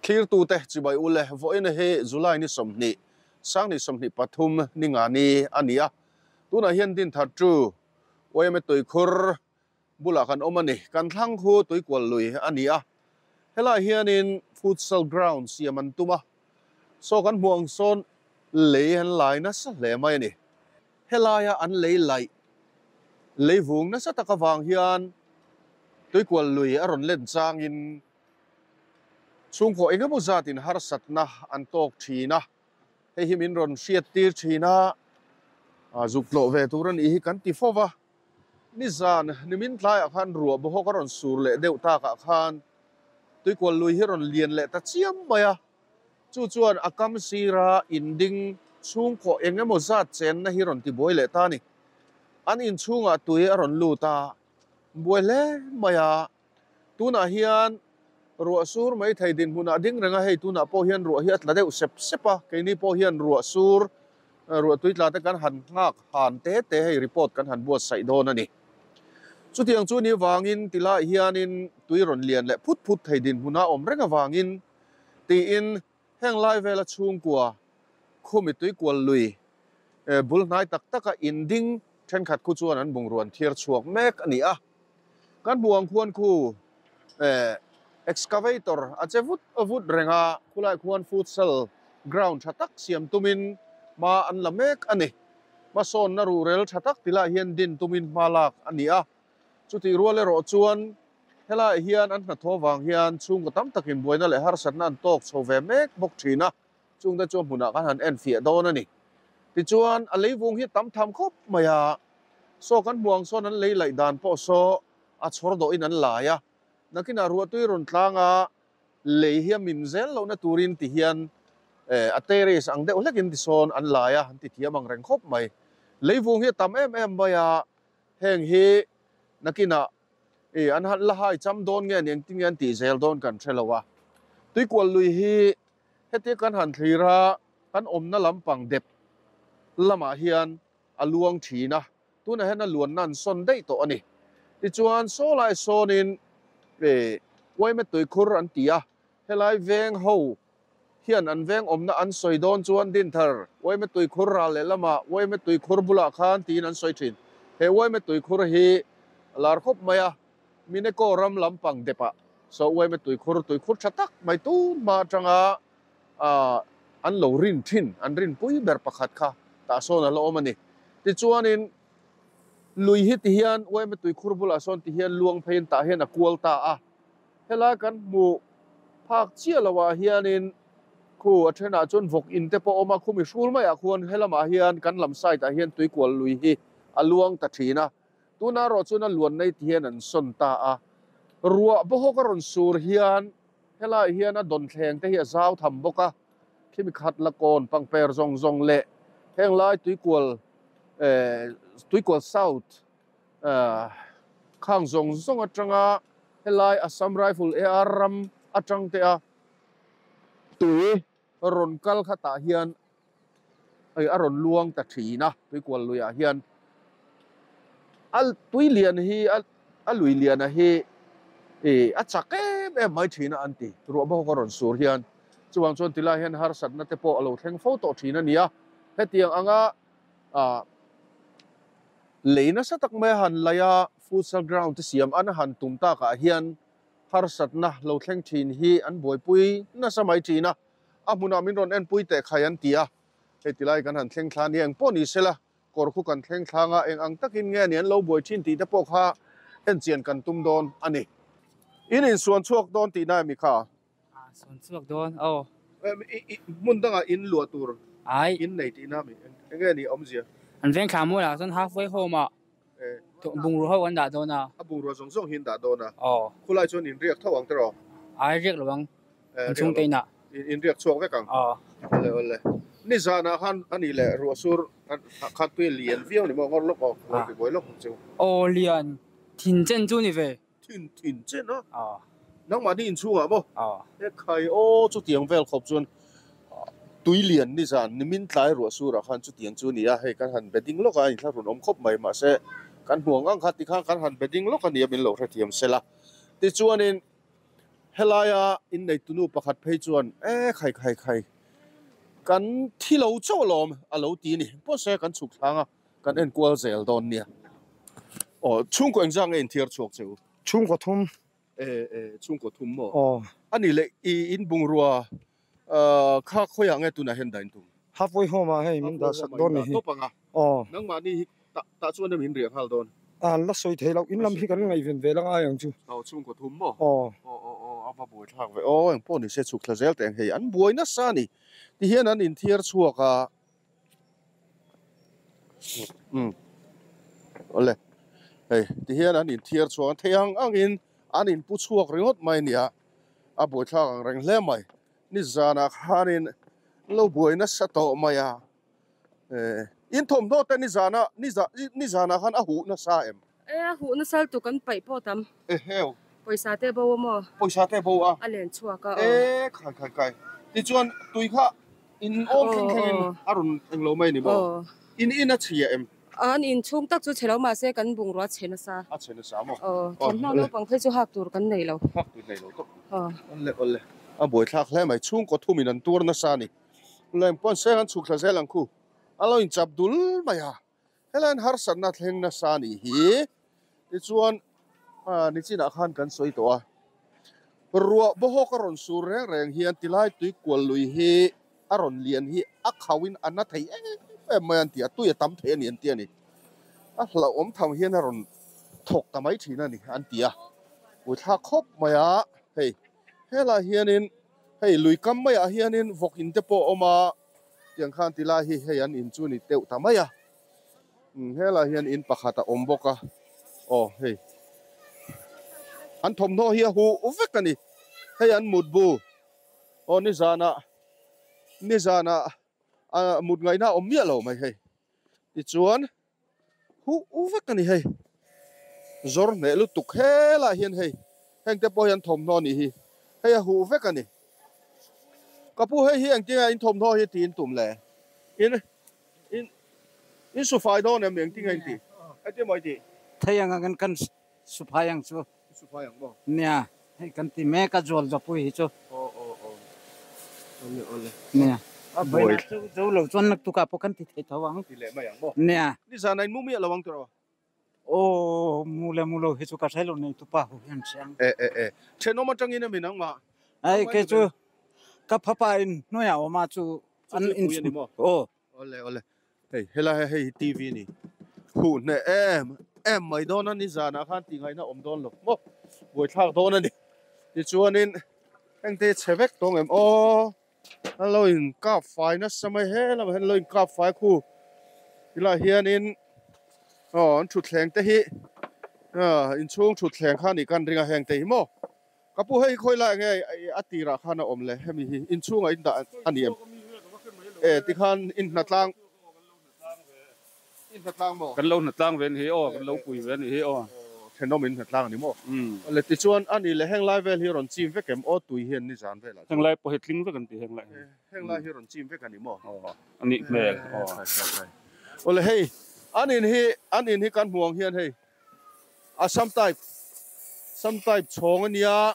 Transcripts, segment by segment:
Thlirtute chibai u le, vawiin hi July ni 20, Sangni 23 ni nga ni a ni a. Tunah hian Dinthar chu YMA tuikhur bulah kan awm a ni. Kan thlang khu tuikual lui a ni a. Helaiah hianin futsal ground siam an tum a. Saw kan hmuh ang sawn lei an lai nasa hle mai a ni. Helaia an lei laih lei vung nasa tak avang hian tuikual lui a rawn len changin chhungkaw engemaw zatin harsatna an tawk thin a. Hei hi min rawn hriat tir thin a, zuk tlawh ve tur a nih hi kan ti fo va. Nizan nimin tlaiah khan ruah bawhawk a rawn sur leh deuh takah khan tuikual lui hi a rawn lian leh ta chiam mai a. Chu chuan a kam sira inding chhungkaw eng emaw zat chenna hi rawn tibuai leh ta a ni. An inchhungah tui a rawn lut a, buai hle mai a. Tunah hian ruah sur mai thei dinhmunah ding reng a, hei tunah pawh hian ruah hi a tla deuh sep sep a, keini pawh hian ruah sur, ruah tui tla te kan han nghak han te te hei report kan han buatsaih dawn a ni. Chutiang chu ni vangin tilai hianin tui rawn lian leh phut phut thei dinhmuna awm reng avangin tiin heng lai vela chhungkua khumi tuikual lui bul hnai tak taka inding thenkhat khu chuan an bungruan thiar chhuak mek a ni a. Kan hmuh ang khuan khu excavator a che vut vut reng a, khulai khuan futsal ground tha tak siam tumin hma an la mek a ni. Hmasawnna ruhrel tha tak tilai hian din tumin hma lak a ni a. Chutih rual erawh chuan Helaiah hian an hnathawh vang hian chhungkaw tam takin buaina leh harsatna an tawk chho ve mek bawk thin a, chungte chu a hmunah kan han enfiah dawn a ni. Tichuan, a leivung hi tam tham khawp mai a, saw kan hmuh ang sawn an lei laih dan pawh saw a chhawr dawhin an lai a, nakinah ruahtui rawn tlang a, lei hi a min zel lohna turin ti hian a terrace ang deuh hlekin tisawn an lai a, an ti thiam ang reng khawp mai. Leivung hi a tam em em mai a, heng hi nakinah I an han la hai cham dawn nge ni engtin nge an tih zel dawn kan hre lo a. Tuikual lui hi hetia kan han thlir a, kan awmna lampang dep lamah hian a luang thin a, tunah hian a luanna an sawn daih tawh a ni. Tichuan saw lai sawnin i Uaime tuikhur an ti a, helai veng ho hian an veng awmna an sawi dawn chuan Dinthar Uaime tuikhur ral leh lamah Uaime tuikhur bulah khan tiin an sawi thin. He Uaime tuikhur hi a lar khawp mai a, Mineko ram lampang depah saw Uaime tuikhur, tuikhur tha tak mai tun hma atanga an lo rin thin, an rinpui ber pakhat kha tah sawn a la awm a ni. Tichuanin lui hi tihian Uaime tuikhur bulah sawn tihian luang pheiin tah hian a kual ta a. Helai kan hmuh phak chiah lo ah hianin khu a thenah chuan vawk in te pawh a awm a, khumi hrul maiah khuan helamah hian kan lam side ah hian tuikual lui hi a luang ta thin a, tuna erawh chuan a luan nei ti hian an sawn ta a, ruah bawhawk a rawn sur hian helaiah hian a dawnthleng te hi a zau tham bawk a, khimi khat la kawn pangper zawng zawng leh heng lai tuikual eh tuikual south Khang zawng zawng atanga helai Assam Rifle AR ram atang te a tui rawn kal kha tah hian hei a rawn luang ta thin a tuikual luiah hian a tui lian hi a lui liana hi ih a chak em em mai thin a an ti ruah bawk a rawn sur hian chuvang chuan tilai hian harsatna te pawh a lo thleng fo tawh thin a ni a hetiang anga ah Lei nasa tak mai a han laih a, futsal ground te siam an han tum takah hian harsatna lo thleng thin hi an buaipui nasa mai thin a, a hmunah min rawn enpui teh khai an ti a, hei tilai kan han thleng thla nia engpawh ni sela kawr khu kan thleng thlang a, eng ang takin nge ni an lo buai thin tih te pawh kha enchian kan tum dawn a ni. In insuan chhuak dawn tihna emi kha? Sawn chhuak dawn aw. Hmun dangah in luah tur in nei tihna mi eng nge ni awmzia? An veng thla mualah chuan halfway home ah bungrua ho an dah dawn a. A bungrua zawng zawng hi an dah dawn a. Aw. Khulai chuan in riak tho ang tiraw? Ai riak lo ang. An chhungte inah. In riak chhuak vek ang? Aw. Awle awle. Nizanah khan a nih leh ruah sur khan tui a lian viau ni maw ngawr lawk aw lo ti buai lawk ang chu. Aw lian thin chen chu ni ve. Thin thin chen a. Nangmahni inchhungah maw? He khai aw chutiang vel khawp chuan tui lian nizan nimin tlai ruah surah khan chutiang chu a ni a, hei kan han bedding lawk a, a inthlahrun awm khawp mai mahse kan hmuang ang kha tikhan kan han bedding lawk a ni a min lo hrethiam sela. Tichuanin Helaia inneitunu pakhat phei chuan, E khai khai khai, kan thi lo chauh alawm a lo ti a ni. Pawhse kan chhuk thlang a, kan enkual zel dawn nia. Aw, chhungkaw engzah nge inthiar chhuak che u? Chhungkaw thum. E, e, chhungkaw thum maw? Aw. A nih leh i inbungrua kha khawiah nge tunah hian dah intum? Halfway home ah hei min dah sak dawn ni hi. Tawp ang a. Aw. Nangmahni hi tah tah chuan em in riah nghal dawn? An la sawi thei loh, in lam hi kan ngaihven ve la ngai ang chu. Aw, chhungkaw thum maw? Aw. Aw, aw, aw, a va buai thlak ve. Aw, engpawh ni se chhuk thla zel teh ang hei, an buai nasa a ni. Tihian an inthiar chhuak a. Umm awle hei tihian an inthiar chhuak a thei ang angin an inpu chhuak ringawt mai a nia a buaithlak ang reng hle mai nizanah khanin lo buai nasa tawh mai a eh in thawmhnaw te nizana nizanah khan a huh nasa em? E a huh nasa lutuk kan paih pawh tam. Eheu. Pawisa te bo a maw? Pawisa te bo a. A len chhuak a aw. E khai khai khai tichuan tui kha In awm thleng thlengin a rawn eng lo mai ni maw? In in a chhia em? An in chhung tak chu chhe lo mahse kan bungrua chhe nasa. A chhe nasa maw? Aw, thawmhnaw naupang phei chu hak tur kan nei lo. Hak tur nei lo tawp. Awle awle, a buaithlak hle mai, chhungkaw thumin an tuar nasa a ni. Leng pawn seng an chhuk thla zel ang khu, a lo inchap dul mai a. Helaiin harsatna thleng nasa a nih hi. Tichuan nichinah khan kan sawi tawh a, ruah bawhawk a rawn sur reng reng hian tilai tui kual lui hi a rawn lian hi a khauhin a na thei em em mai an ti a, tui a tam thei a ni an ti a ni. A hlauhawm tham hian a rawn thawk ta mai thin a ni an ti a, puithlak khawp mai a, hei helaiah hianin hei lui kam maiah hianin vawk in te pawh a awm a. Tiang khan ti lai hi hei an in chu ni deuh ta mai a, helaiah hian in pakhat a awm bawk a, aw hei an thawmhnaw hi a huh vek a ni, hei an mutbu aw nizanah nizanah ah mut ngaihna a awm miah lo mai hei tichuan huh vek a ni hei zawr hneh lutuk helaiah hian hei heng te pawh hi an thawmhnaw a nih hi hei a huh vek a ni ka pu hei hi engtin nge in thawmhnaw hi tiin tum le in in in su fai dawn em engtin nge in tih engtin maw i tih Thei ang angin kan su phai ang chu. Su phai ang maw? Nia, hei kan ti mek a zual zawpui hi chu. Aw aw aw. Awle awle. Nia. A buai chu zo lo chuan naktukah pawh kan ti thei tho ang. Ti leh mai ang maw? Nia. Nizan a in mu miah lo ang tiraw? Aw, mu le mu lo hi chu ka hre lo nei tupa ho hian hria ang. E e e. Thenawm atangin a min ang mah. Ai kei chu ka phapa in hnuaiah awm a chu an in chu ni maw? Aw. Awle awle. Hei helai hi hei hi TV a ni. Huh hneh em em mai dawn a nizanah khan tih ngaihna awm dawn lo maw buaithlak dawn a ni. Tichuanin hengte hi chhe vek tawng em aw a lo in kap fai nasa mai he lamah hian a lo in kap fai khu tilaiah hianin aw an thutthleng te hi inchhung thutthleng kha a nih kan ring a hengte hi maw. Ka pu hei khawi lai nge a tirah khan a awm le hemi hi inchhungah in dah a ni em? E tikhan in hnatlang in hnatlang maw? Kan lo hnatlang ve a ni hi aw, kan lo pui ve a ni hi aw. Thenawm in hnatlang a ni maw? Le tichuan a ni le heng lai vel hi rawn chim vek em aw tui hian nizan velah chuan. Heng lai pawh hi tling vek an ti heng lai hi. Heng lai hi rawn chim vek a ni maw? Aw a nih hmel aw. Aw le hei an in hi an in hi kan hmu ang hian hei Assam type Assam type chhawng a nia,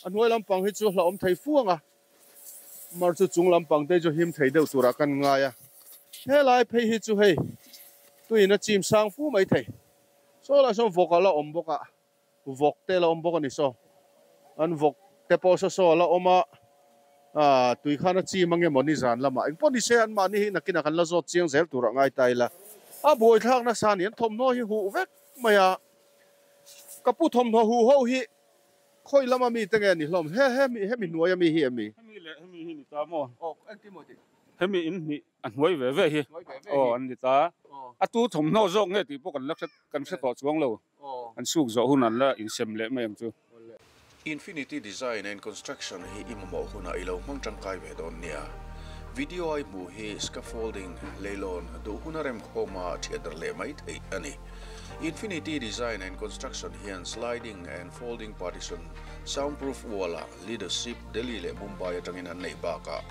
a hnuai lampang hi chu hlauhawm thei fu ang a, mar chu chung lampang te chu him thei deuh turah kan ngai a, helai phei hi chu hei tuiin a chim sang fu mai thei, saw lah sawn vawk a la awm bawk a, vawk te la awm bawk a ni saw, an vawk te pawh saw saw a la awm a, ah tui khan a chim ange maw nizan lamah engpawh ni se anmahni hi nakinah kan la zawt chiang zel turah ngai ta ila, a buaithlak nasa a ni, an thawmhnaw hi huh vek mai a, ka pu thawmhnaw huh ho hi khawi lama mi te nge ni hlawm, he he hemi hnuaia mi hi em mi? Hemi leh hemi hi ni ta maw? Aw engtin maw tih? Hemi in hnih a hnuai ve ve hi aw an ni ta, a tu thawmhnaw zawk nge tih pawh kan la hre kan hre tawh chuang lo. An suk zawh hun an la insem leh mai ang chu. Infinity Design and Construction hi i mamawh hunah i lo hmang tangkai ve dawn nia. Video a i hmuh hi scaffolding, leilawn, duh huna remkhawma thiat dar leh mai theih a ni. Infinity Design and Construction hian sliding and folding partition, soundproof wall-ah leadership Delhi leh Mumbai atangin an neih bakah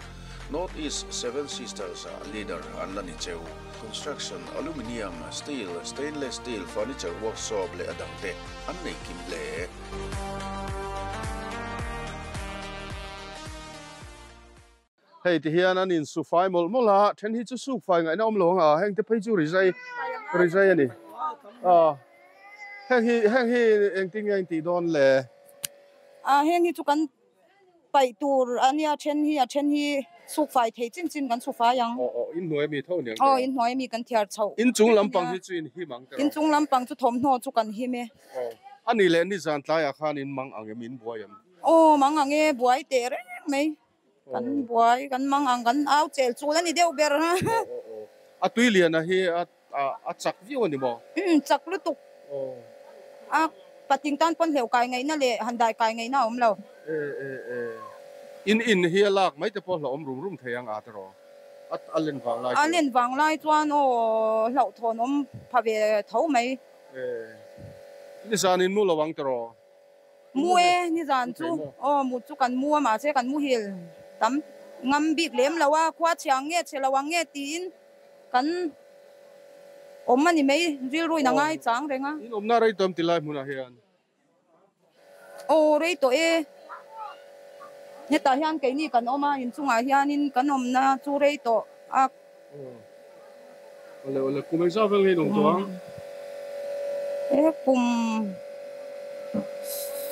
North East Seven Sisters-ah leader an la ni cheu. Construction, Aluminium, Steel, Stainless Steel, Furniture Workshop leh a dangte an nei kim hle. Hei ti hian an insu fai mawlh mawlh a, then hi chu suk fai ngaihna awm lo ang a, heng te phei chu rizai rizai a ni. Aw heng hi heng hi engtin nge a intih dawn le? A heng hi chu kan paih tur a nia, then hi a then hi suk fai thei chin chin kan su fai ang. Aw aw inhnuai ami tho aniang tiraw? Aw inhnuai ami kan thiar chhoh. Inchung lampang hi chu in him ang tiraw? Inchung lampang chu thawmhnaw chu kan him e. Aw a nih leh nizan tlaiah khan in mang ang em in buai em? Aw mang ang e buai teh reng mai. Kan buai, kan mang ang, kan au chel chul a ni deuh ber. A tui liana hi a chak viau a ni maw? Umm, chak lutuk. A patling tan pawn hleuh kai ngaihna leh han dai kai ngaihna a awm lo. E e e. In in hi a lak mai te pawh hlauhawm rum rum thei ang a tiraw? A len vang lai chuan. A len vang lai chuan aw hlauhthawn awm pha ve tho mai. E. Nizan in mu lo ang tiraw? Mu e, nizan chu aw mut chu kan mu a mahse kan muhil tam ngam bik lem lo a, khua chhe ang nge chhe lo ang nge tiin kan awm a ni mai, rilruin a ngai chang reng a. In awmna rei tawh em ti lai hmunah hian? Aw rei tawh e, hetah hian keini kan awm a, inchungah hianin kan awmna chu rei tawh a. Awle awle kum engzah vel nge in awm tawh ang? E kum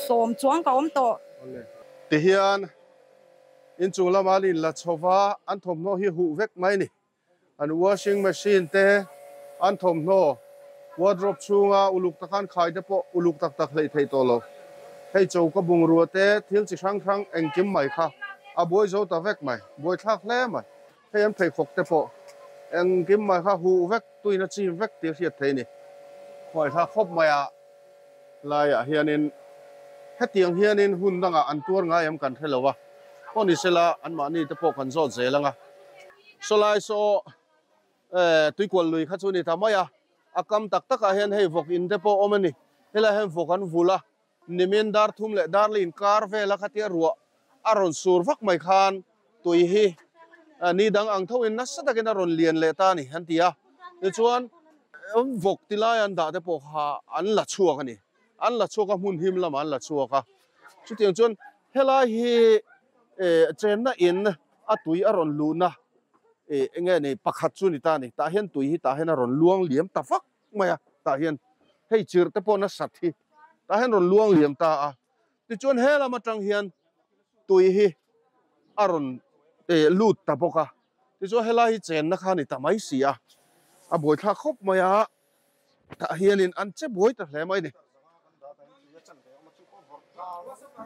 sawm chuang ka awm tawh. Awle. Tihian inchung lama an inla chho va, an thawmhnaw hi huh vek mai ni. An washing machine te, an thawmhnaw wardrobe chhunga uluk taka an khai te pawh uluk tak tak hleih theih tawh lo. Hei choka bungrua te, thil chi hrang hrang engkim mai kha a buai zo ta vek mai, buaithlak hle mai. Hei an pheikhawk te pawh engkim mai kha huh vek, tuina chim vek tih a hriat theih a ni. Khuaithla khawp mai a laiah hianin hetiang hianin hun dangah an tuar ngai em kan hre lo a, pawh ni sela anmahni te pawh kan zawt zel ang a. Sawlai saw tuikual lui kha chu ni ta mai a, a kam tak takah hian hei vawk in te pawh awm a ni. Helaiah hian vawk an vul a, Nimin dar thum leh dar leh inkar vela khatia ruah a rawn sur vak mai khan tui hi ni dang ang thoin nasa takin a rawn lian leh ta a ni an ti a. Tichuan vawk ti lai an dah te pawh kha an la chhuak a ni. An la chhuak a, hmun him lamah an la chhuak a. Chutiang chuan helai hi chenna in a tui a rawn luhna enge ni pakhat chu ni ta a ni. Tah hian tui hi tah hian a rawn luang liam ta vak mai a, tah hian hei chirh te pawh nasat hi tah hian rawn luang liam ta a, tichuan he lam atang hian tui hi a rawn lut ta bawk a, tichuan helai hi chenna kha a ni ta mai si a, a buaithlak khawp mai a, tah hianin an che buai ta hle mai a ni.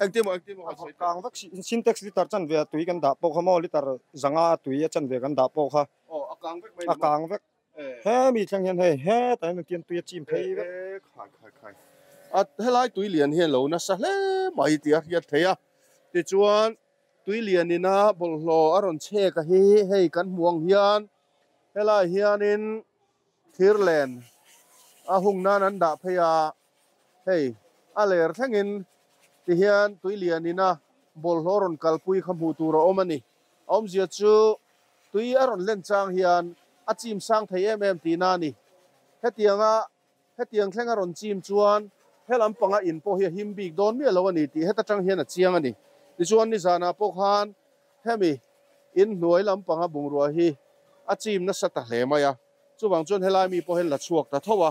Engtin maw engtin maw han sawi teh. Sintex liter chanve a tui kan dah pawh kha maw liter zanga a tui a chanve kan dah pawh kha a kang vek mai ni maw? A kang vek. He mi thleng hian hei hetah hian tian tui a chim phei vek. Khai khai khai. A helai tui lian hian lo nasa hle mai tih a hriat theih a. Tichuan tui lian ina bawlhhlawh a rawn chhek a hi hei kan hmuh ang hian helai hianin thir len a hung nan an dah phei a. Hei a ler thlengin tihian tui lian ina bawlhhlawh rawn kalpui kha hmuh tur a awm a ni. A awmzia chu tui a rawn len chang hian a chim sang thei em em tihna a ni. Hetianga hetiang thleng a rawn chim chuan he lampanga in pawh hi a him bik dawn miah lo a ni tih heta tang hian a chiang a ni. Tichuan nizanah pawh khan hemi in hnuai lampanga bungrua hi a chim nasa ta hle mai a, chuvang chuan helai mi pawh hian la chhuak ta tho a.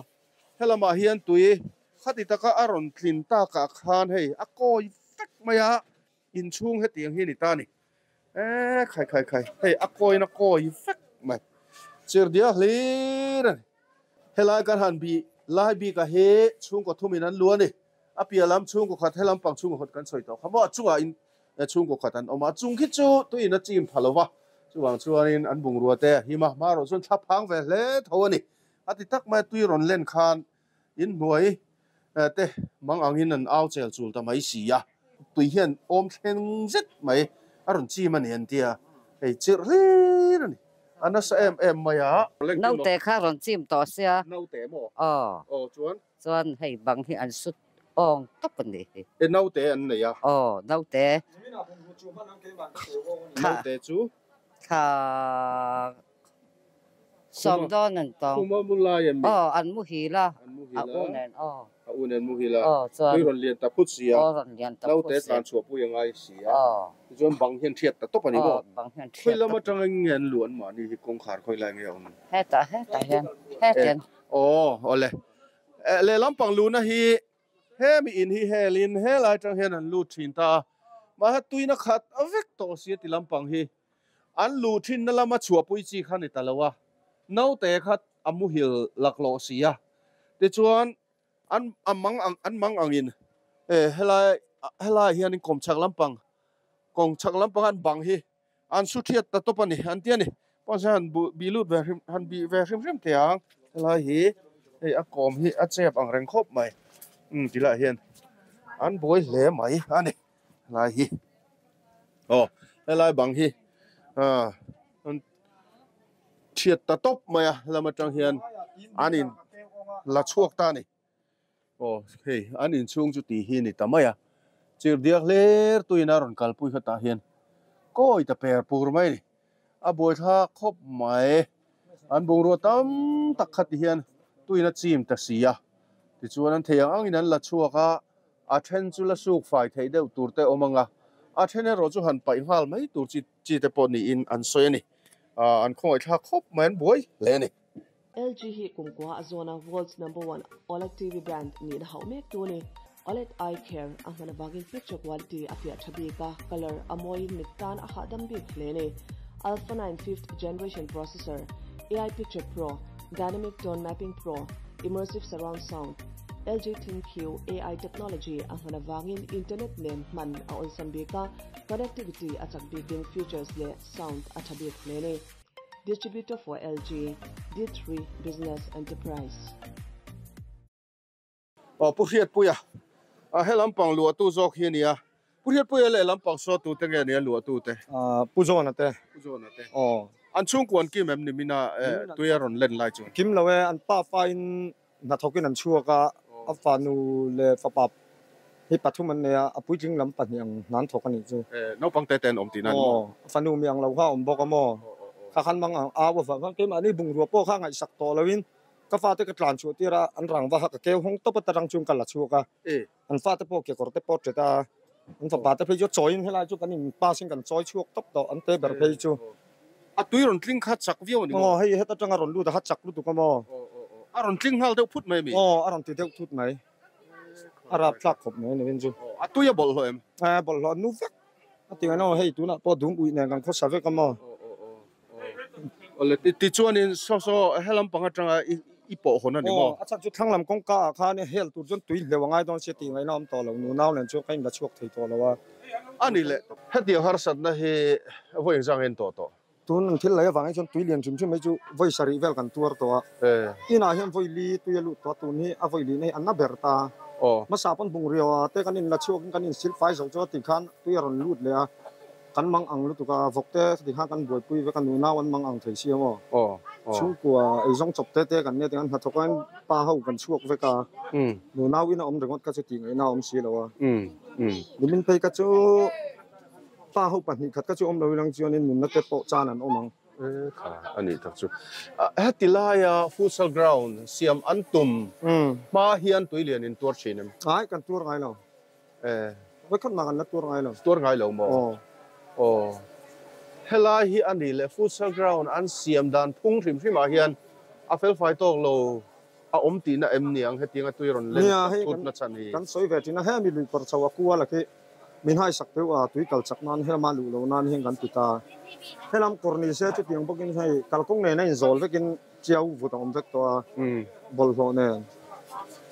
Helamah hian tui khati taka a rawn tlin takah khan hei a kawi vek mai a, inchhung hetiang hi a ni ta a ni. E khai khai khai hei a kawin a kawi vek mai chirdia hlir a ni helai kan han bih lai bik a hi chhungkaw thumin an lu a ni a piah lam chhungkaw khat helam pang chhungkaw khat kan sawi tawh kha maw a chungah in chhungkaw khat an awm a chung khi chu tuiin a chim pha lova chuvang chuanin an bungrua te a him a hmarawh chuan thla phang ve hle tho a ni a ti tak mai a tui rawn len khan In hnuai te mang angin an au chel chul ta mai si a, tui hian awm thleng zet mai a rawn chim a ni an tia, hei chirh hlir a ni, a nasa em em mai a. Naute kha rawn chim tawh sia. Naute maw? Aw. Aw chuan? Chuan hei bang hi an sut awng tawp a ni hi. E naute an nei a? Aw naute. Naute chu? Thla Sawm dawn an tawng. Khuma mu lai em mi? Aw, an muhil a. An muhil a. A u nen aw. A u nen muhil a. Aw chuan. Tui rawn lian ta phut si a. Aw rawn lian ta phut si. Naute tlan chhuah pui a ngai si a. Aw. Tichuan bang hian thiat ta tawp a ni maw? Aw bang hian thiat Khawi lam atanga nge an luh an mahni hi kawngkhar khawi lai nge a awm? Hetah hetah hian hetian. Aw awle. Lehlam pang luhna hi hemi in hi helin helai atang hian an lut thin ta a. Mahse tuina khat vek tawh si a ti lampang hi. An luh thinna lama chhuahpui chi kha ni ta lo a, naute kha a muhil laklawh si a. Tichuan, an a mang ang an mang angin e helai helaiah hianin kawmchhak lampang kawngchhak lampang an bang hi an su thiat ta tawp a ni an ti a ni. Pawh se han buh bih lut ve hrim han bih ve hrim hrim thei ang helai hi hei a kawm hi a chep ang reng khawp mai umm tilaiah hian an buai hle mai a ni. Helai hi aw helai bang hi ah an thiat ta tawp mai a lam atang hian an in la chhuak ta a ni aw hei an inchhung chu tih hi a ni ta mai a chirhdiak hler tuin a rawn kalpui kha tah hian kawi ta per pur mai a ni a buaithlak khawp mai an bungrua tam tak kha ti hian tuin a chim ta si a tichuan an thei ang angin an la chhuak a. A then chu la suk fai theih deuh tur te awm ang a, a then erawh chu han paih nghal mai tur chi chi te pawh niin an sawi a ni. An khawngaihthlak khawp mai, an buai hle a ni. LG hi kumkua a zawna world's number one OLED TV brand nihna hauh mek tu a ni. OLED Eye Care a hman avangin picture quality a fiah tha bik a, colour a mawiin mit tan a hahdam bik hle a ni. Alpha 9 fifth generation processor, AI Picture Pro, Dynamic Tone Mapping Pro, Immersive Surround Sound, LG ThinQ AI technology a hman avangin internet nen hman a awlsam bik a, connectivity a chak bikin features leh sound a tha bik hle a ni. Distributor for LG, D3 Business Enterprise. Aw Pu Hriatpuia, a he lampang luahtu zawk hi a nia. Pu Hriatpuia leh lampang sawtu te nge nia luahtu te? Pu Zawna te. Pu Zawna te. Aw. An chhungkua an kim em ni mina tui a rawn len lai chuan? Kim lo e, an pa fain Hnathawkin an chhuak a, a fanu leh fapa hi pathum an nei a, a puitling lam pahnih ang hna an thawk a nih chu. Naupang te te an awm tihna a ni maw? Aw, a fanu mi ang lo kha a awm bawk a maw? Kha khan mang ang au avang khan keimahni bungrua pawh kha ngaihsak tawh loin ka fate ka tlan chhuah tir a, an rang vaha ka keu hawng tawp a tarang chuan ka la chhuak a, an fate pawh kekawr te pawh ṭet a, an fapa te phei chu a chawiin helai chu kan in pass in kan chawi chhuak tawp tawh, an te ber phei chu. A tui rawn tling kha chak viau a ni maw? Aw, hei heta tanga rawn lut a kha chak lutuk a maw? A rawn tling nghal deuh phut mai a mi? Aw, a rawn ti deuh thut mai. A rap thlak khawp mai a ni rin chu. A tui a bawlhhlawh em? A bawlhhlawh a nu vek. A ti ngaihna aw, hei tunah pawh dum uih nen kan khawsa vek a maw? Awle, tichuanin saw saw helam pang atanga i pawh hawn a ni maw? Aw, a chhan chu thlang lam kawngka ah khan hel tur chuan tui hleuh a ngai dawn sia tih ngaihna a awm tawh lo, nunau nen chuan ka inla chhuak thei tawh lo a. A ni le, hetiang harsatna hi vawi engzang en tawh tawh? Tun an thil lei avangin chuan tui lian hrim hrim mai chu vawi sarih vel kan tuar tawh a. Inah hian vawi li tui a lut tawh a, tun hi a vawi lihna hi a na ber ta. Hmasa pawn bungrua te kan inla chhuakin kan insil fai zo chu a ti khan tui a rawn lut leh a. Kan mang ang lutuk a, vawk te ti khan kan buaipui vek a, nunau an mang ang thei si ang aw. Chhungkua eizawng chawp te te kan nia tiang hnathawk a pa ho kan chhuak vek a, nunau in a awm ringawt kha chu tih ngaihna a awm si lo a. Nimin phei kha chu pa ho pahnih khat kha chu awm lo ilang chuanin nunna te pawh chan an awm ang. Kha a nih tak chu. Heti laia futsal ground siam an tum hma hian tuilian in tuar thin em? Ai, kan tuar ngai lo. Eh. Vawikhat mah kan la tuar ngai lo. Tuar ngai lo maw? Aw. Aw. Helai hi a ni leh futsal ground an siam dan phung hrim hrim ah hian a felfai tawk lo a awm tihna em niang hetiang a tui rawn len thut na chhan hi. Kan sawi ve thin a, hemi lui kawr chho a kual a khi min haisak deuh a, tui kal chak nan helama luh loh nan hian kan ti ta. Helam kawr ni se chutiang bawkin hei kalkawng nen a inzawl vekin Chiau vut a awm vek tawh a, bawlhhlawh nen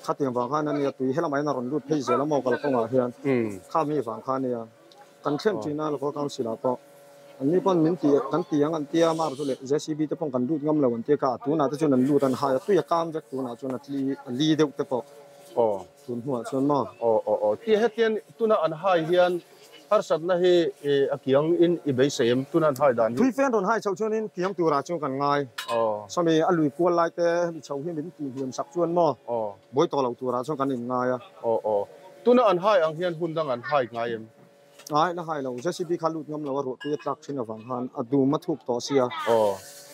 khatiang vang khan a nia, tui helamah hian a rawn lut phei zel a maw kalkawngah hian kha mi vang kha a nia. Kan thlen thin a local council ah pawh an ni pawn min ti kan ti ang an tia mar chu leh JCB te pawh kan lut ngam lo an tia kha a tunah te chuan an lut an hai a tui a kam vek tunah chuan a tli a li deuh te pawh tun hnuah chuan maw. Aw aw aw ti hetian tuna an hai hian Harsatna hi a kiang in i beisei em? Tuna an hai dan hi. Tui fen rawn hai chhoh chuanin kiang turah chuan kan ngai. Sawmi a lui kual lai te hemi chho hi min tih hniam sak chuan maw buai tawh lo turah chuan kan inngai a. Tuna an hai ang hian hun dang an hai ngai em? Ngai la hai lo. JCB kha lut ngam lo a ruah tui a tlak thin avang khan a dum a thuk tawh sia.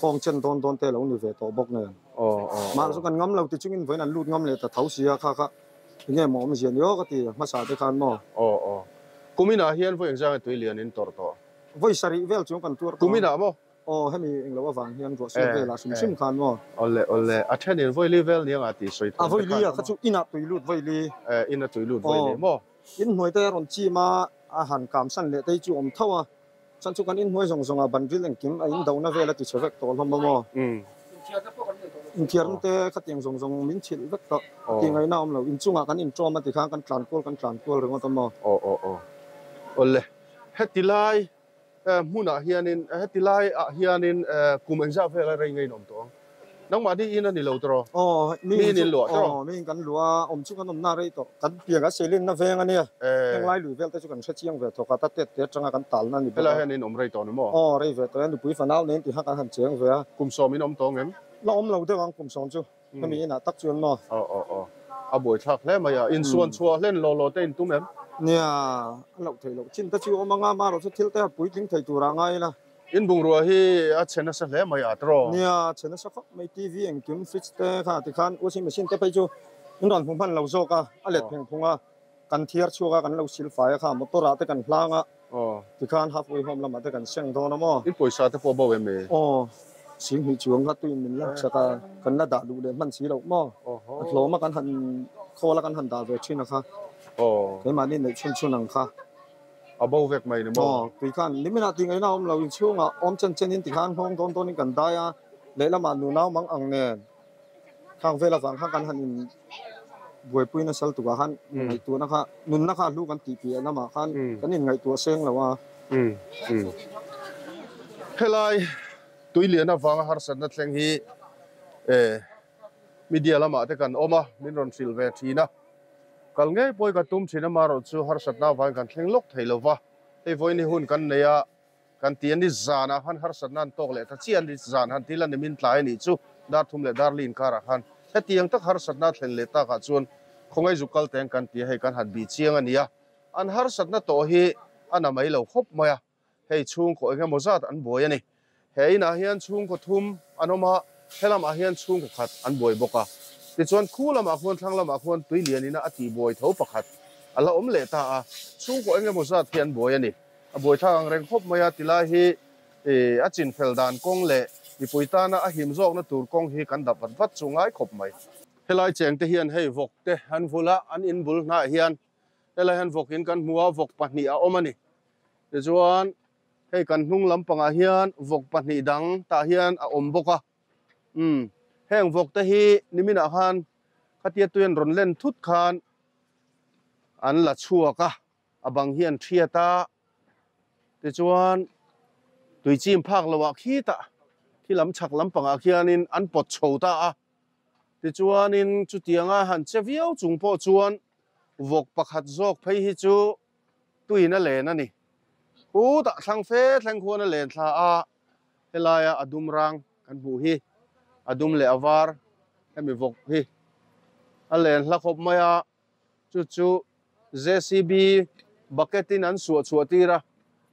Kawng chen dawn dawn te lo ni ve tawh bawk nen. Mahse kan ngam lo ti chungin vawiin an lut ngam leh ta tho sia kha kha. Enge maw awmzia ni aw ka ti hmasa te khan maw? Aw aw. Kuminah hian vawi engzang nge tui lian in tawrh tawh? Vawi sarih vel chuang kan tuar tawh. Kuminah maw? Aw hemi englo avang hian ruah sual velah hrim hrim khan maw? Awle awle. A thenin vawi li vel niang a tih sawi thawm te khan. A vawi li a kha chu inah tui lut vawi li. Eh ina tui lut vawi li maw? In hnuai te a rawn chim a, a han kam san leh te hi chu awm tho a. Chan chu kan inhnuai zawng zawng ah banril engkim a indona vel a ti chhe vek tawh hlawm a maw? Inthiarna te khatiang zawng zawng min chhilh vek tawh tih ngaihna a awm lo. Inchungah kan inṭawm a ti khan kan tlan kual kan tlan kual ringawt a maw? Aw aw aw. Awle, heti lai hmunah hianin heti lai ah hianin kum engzah vel a rei ngei in awm tawh ang? Nangmah ni in a ni lo tawh. Aw, mi in luah tawh. Aw, mi in kan luah a, awm chu kan awmna rei tawh. Kan piang a Selin na veng a nia. Heng lai lui vel te chu kan hre chiang ve thawk a, ta tet te atanga kan talna a ni bawk a. Helai hian in awm rei tawh ni maw? Aw, rei ve tawh e, nupui fanau nen tiha kan han cheng ve a. Kum sawm in awm tawh ngem? La awm lo deuh ang kum sawm chu, hemi inah tak chuan maw? Aw, aw, aw. A buaithlak hle mai a, insuan chhuah hlen law law te in tum em? Nia, a loh theih loh chin te chu awm anga, amaherawh chu thil te a puitling thei turah ngai ila. In bungrua hi a chhe nasa hle mai a tawh. Nia, a chhe nasa khawp mai. TV engkim, fridge te kha tikhan washing machine te phei chu in rawn hmu hman lo zawk a, a let pheng phung a, kan thiar chhuak a, kan lo sil fai a kha, motor ah te kan hlang a, tikhan half way home lamah te kan seng dawn a maw. In pawisa te pawh bo em e? Aw, Singhnih chuang kha tuin min laksak a, kan la dah duh leh hman si loh maw? A hlawm a kan han khawl a kan han dah ve thin a kha, keimahni neih chhun chhun ang kha. A bo vek mai ni maw? Aw, tui khan nimin ah tih ngaihna a awm lo, inchhungah awm chen chen in ti khan nghawng dawn dawn in kan dai a, lehlamah nunau mang ang nen khang vel avang khan kan han in buaipui nasal tukah khan ngaihtuahna kha nunna kha a hlu kan tih piah lamah khan kan in ngaihtuah seng lo a. Helai tuilian avanga harsatna thleng hi media lamah te kan awm a, min rawn hrilh ve thin a. Kal ngei pawh i ka tum thin amaherawh chu harsatna avangin kan thleng lawk thei lo va, hei vawiin hun kan nei a, kan ti a ni zanah khan harsatna an tawk leh ta chiah a ni, zan han til a ni min tlai a nih chu dar thum leh dar li inkarah khan hetiang tak harsatna a thlen leh takah chuan khawngaih zuk kal teng kan ti a, hei kan han bih chiang a ni a, an harsatna tawh hi a na mai lo khawp mai a. Hei chhungkaw eng emaw zat an buai a ni. He inah hian chhungkaw thum an awm a, he lamah hian chhungkaw khat an buai bawk a. Tichuan khu lamah khuan thlang lamah khuan tui lian ina a tih buai tho pakhat a la awm leh ta a, chhungkaw eng emaw zat hi an buai a ni. A buai thlak ang reng khawp mai a, tilai hi a chin fel dan kawng leh mipui tana a him zawkna tur kawng hi kan dap vat vat chu ngai khawp mai. Helai chengte hian hei vawk te an vul a, an inbul hnaiah hian helai hian vawk in kan hmu a, vawk pahnih a awm a ni. Tichuan hei kan hnung lampangah hian vawk pahnih dang tah hian a awm bawk a, umm heng vawk te hi niminah khan khatia tui an rawn len thut khan an la chhuak a, a bang hi an thiat a, tichuan tui chim phak loh ah khitah khi lam chhak lampangah khianin an pawt chho ta a, tichuanin chutianga han che viau chung pawh chuan vawk pakhat zawk phei hi chu tuin a len a ni. Khutah thlang fe thleng khuan a len thla a, helaia a dum rang kan hmuh hi a dum leh a var hemi vawk hi a len hla khawp mai a, chu chu JCB bucket in an suah chhuah tir a,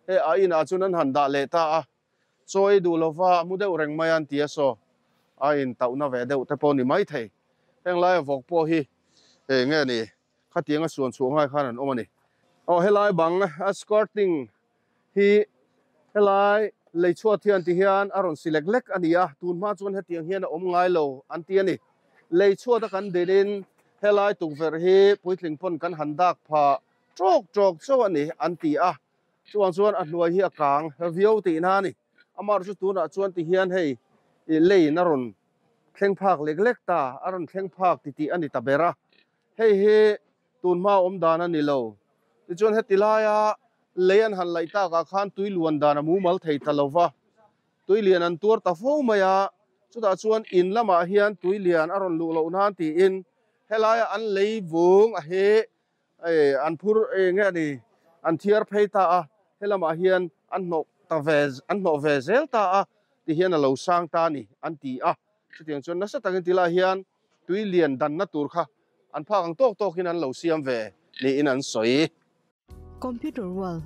hei a inah chuan an han dah leh ta a, chaw ei duh lova mu deuh reng mai a an ti a saw a intauhna ve deuh te pawh ni mai thei. Heng laia vawk pawh hi eng nge ni? Khatianga suan chhuah ngai khan an awm a ni. Aw helai bang a skirting hi helai lei chhuat hian ti hian a rawn si lek lek a ni a, tun hma chuan hetiang hian a awm ngai lo an ti a ni. Lei chhuat a kan din in helai tukverh hi puitling pawn kan han dak pha tawk tawk chauh a ni an ti a, chuvang chuan a hnuai hi a kang viau tihna a ni. Amaherawhchu tunah chuan ti hian hei leiin a rawn thleng phak lek lek ta, a rawn thleng phak titih a ni ta ber a. Hei hi tun hma awm dan a ni lo. Tichuan heti laia lei an han laih takah khan tui luan dan a mumal thei ta lo va, tui lian an tuar ta fo mai a, chutah chuan in lamah hian tui lian a rawn luh loh nan tiin helaia an lei vung a hi an phur nge a ni an thiar phei ta a, helamah hian an hnawh ta ve an hnawh ve zel ta a tihian a lo sang ta a ni an ti a. Chutiang chuan nasa takin tilai hian tui lian danna tur kha an phak ang tawk tawkin an lo siam ve niin an sawi. Computer World.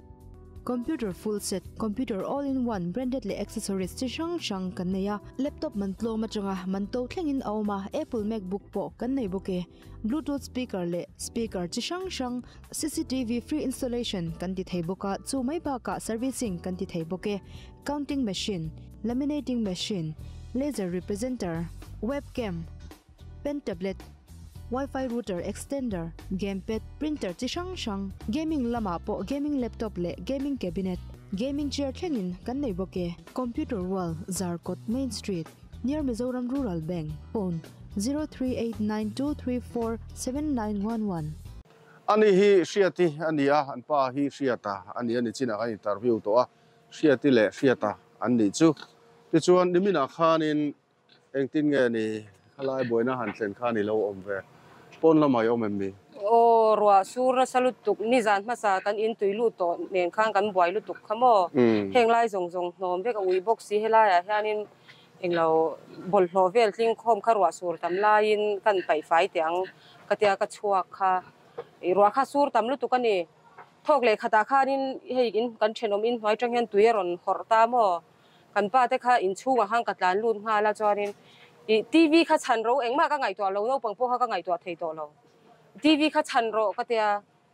Computer full set, computer all in one, branded leh accessories chi hrang hrang kan nei a. Laptop man tlawm atanga man to thlengin a awm a, Apple MacBook pawh kan nei bawk e. Bluetooth speaker leh speaker chi hrang hrang, cctv free installation kan ti thei bawk a, chu mai bakah servicing kan ti thei bawk e. Counting machine, laminating machine, laser representer, webcam, pen tablet, Wi-Fi router extender, gamepad, printer chi hrang hrang, gaming lamah pawh gaming laptop leh gaming cabinet, gaming chair thlengin kan nei bawk e. Computer World, Zarkawt Main Street, near Mizoram Rural Bank, phone, 0389234791. Ani hi Hriati a ni a, an pa hi Hriata a ni a ni chinah kan interview tawh a, Hriati leh Hriata an nih chu. Tichuan niminah khanin Engtin nge ni khalai buaina han thlen khan i lo awm ve? Pawn lamah i awm em mi? Aw, ruah sur nasa lutuk, nizan hmasa kan in tui lut tawh nen khan kan buai lutuk kha maw? Heng lai zawng zawng hnawm vek a ui bawk si, helaiah hianin englo bawlhhlawh vel tling khawm kha ruah sur tam laiin kan paih fai teh ang ka tia ka chhuak kha. I ruah kha sur tam lutuk a ni. Thawk leh khatah khanin hei in kan thenawm in hnuai tang hian tui a rawn hawrh ta maw? Kan pa te kha inchhungah khan ka tlan lut nghal a chuanin ih TV kha chhan ro engmah ka ngaihtuah lo naupang pawh kha ka ngaihtuah thei tawh lo. TV kha chhan rawh ka tia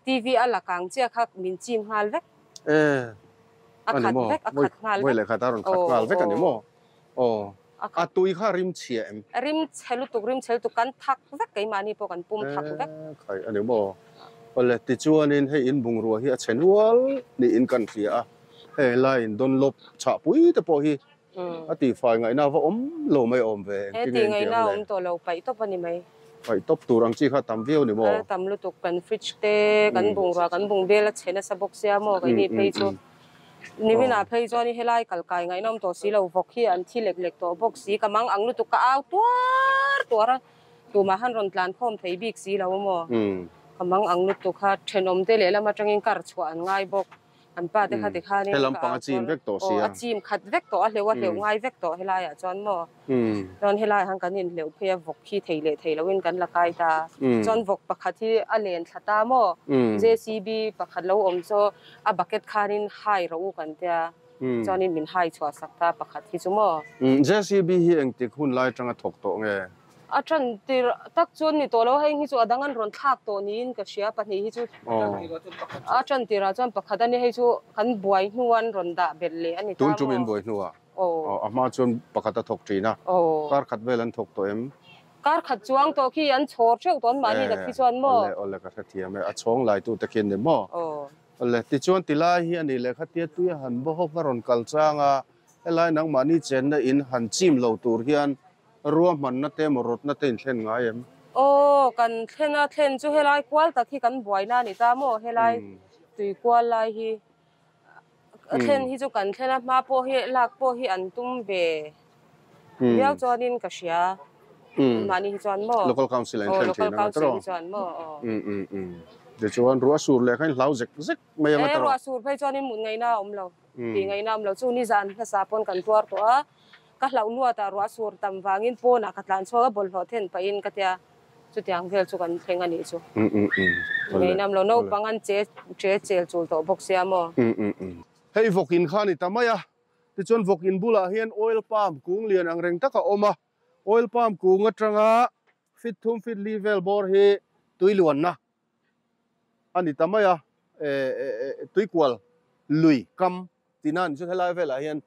TV a la kang chiah kha min chim nghal vek. E A ani khat maw vek a khat nghal vawi vek. leh khat a rawn khat Aw nghal vek ani aw maw aw a a khat. tui kha rim chhia em? Rim chhe lutuk rim chhe lutuk kan thak vek keimahni pawh kan pum E thak vek. khai ani maw awle tichuanin hei in bungrua hi a chhe nual niin kan hria a. Hei laiin Dunlop chhahpui te pawh hi a tihfai ngaihna va awm lo mai awm ve, He engtin tih nge ngaihna intiang le? awm tawh lo paih tawp a ni mai. Paih tawp tur ang chi kha tam viau ni maw? Tam lutuk kan fridge te, kan bungrua, kan bungbel a chhe nasa bawk sia maw keini phei chu. Niminah phei chuan helai kal kai ngaihna awm tawh si lo, vawk hi an thi lek lek tawh bawk si, ka mang ang lutuk ka au tuar tuar a, tumah han rawn tlan khawm thei bik si lo maw? Ka mang ang lutuk kha thenawm te lehlam atangin kar chhuah an ngai bawk. An pa te kha ti khanin He lampang a chim vek tawh sia. Aw, a chim khat vek tawh, a hleuh a hleuh ngai vek tawh helaiah chuan maw. Chuan helaiah khan kan inhleuh phei a, vawk hi thei leh thei loin kan la kai ta. Chuan vawk pakhat hi a len thla ta maw. JCB pakhat lo awm chu a bucket khanin hai rawh u kan tia, chuanin min hai chhuah sak ta pakhat hi chu maw. JCB hi engtik hun lai atanga thawk tawh nge? A tan tir tak chuan ni tawh lo, hei hi chu a dang an rawn thlak tawh niin ka hria, pahnih hi chu a tan tirah chuan pakhat a ni, hei chu kan buai hnu an rawn dah belh leh a ni ta maw? Tun tum in buai hnuah a hma chuan pakhat a thawk thin a, kar khat vel an thawk tawh em? Kar khat chuang tawh khi an chhawr theuh tawh an mahni tak khi chuan maw? Awle awle ka hrethiam e, a chhawng lai tu te khi an ni maw? Awle tichuan tilai hi a nih leh khatia tui a han bawhawk a rawn kal chang a, helai nangmahni chenna in han chim lo tur hian Ruahmanna te emaw rawtna te in thlen ngai em? Aw, kan thlen a, thlen chu helai kual tak hi kan buaina a ni ta maw? Helai tui kual lai hi thlen hi chu kan thlen a, hma pawh hi lak pawh hi an tum ve viau chuanin ka hria. Mahni hi chuan maw? Local Council a in thlen thin ang a tiraw? Local Council hi chuan maw? Aw. Tichuan ruah sur leh kha in hlau zek zek mai ang a tiraw? Ruah sur phei chuanin mut ngaihna a awm lo, tih ngaihna a awm lo. Chu nizan hmasa pawn kan tuar tawh a. Ka hlauh luatah ruah sur tam vangin pawnah ka tlan chhuak a, bawlhhlawh then pahin ka tia, chutiang vel chu kan thleng a nih chu. Ngei nam lo, naupang an che che chel chul tawh bawk sia maw? Hei vawk in kha a ni ta mai a, tichuan vawk in bulah hian oil palm kung lian ang reng tak a awm a, oil palm kung atanga fit thum fit li vel bawr hi tui luanna a ni ta mai a, tuikual lui kam Tina ni chuan helai velah hian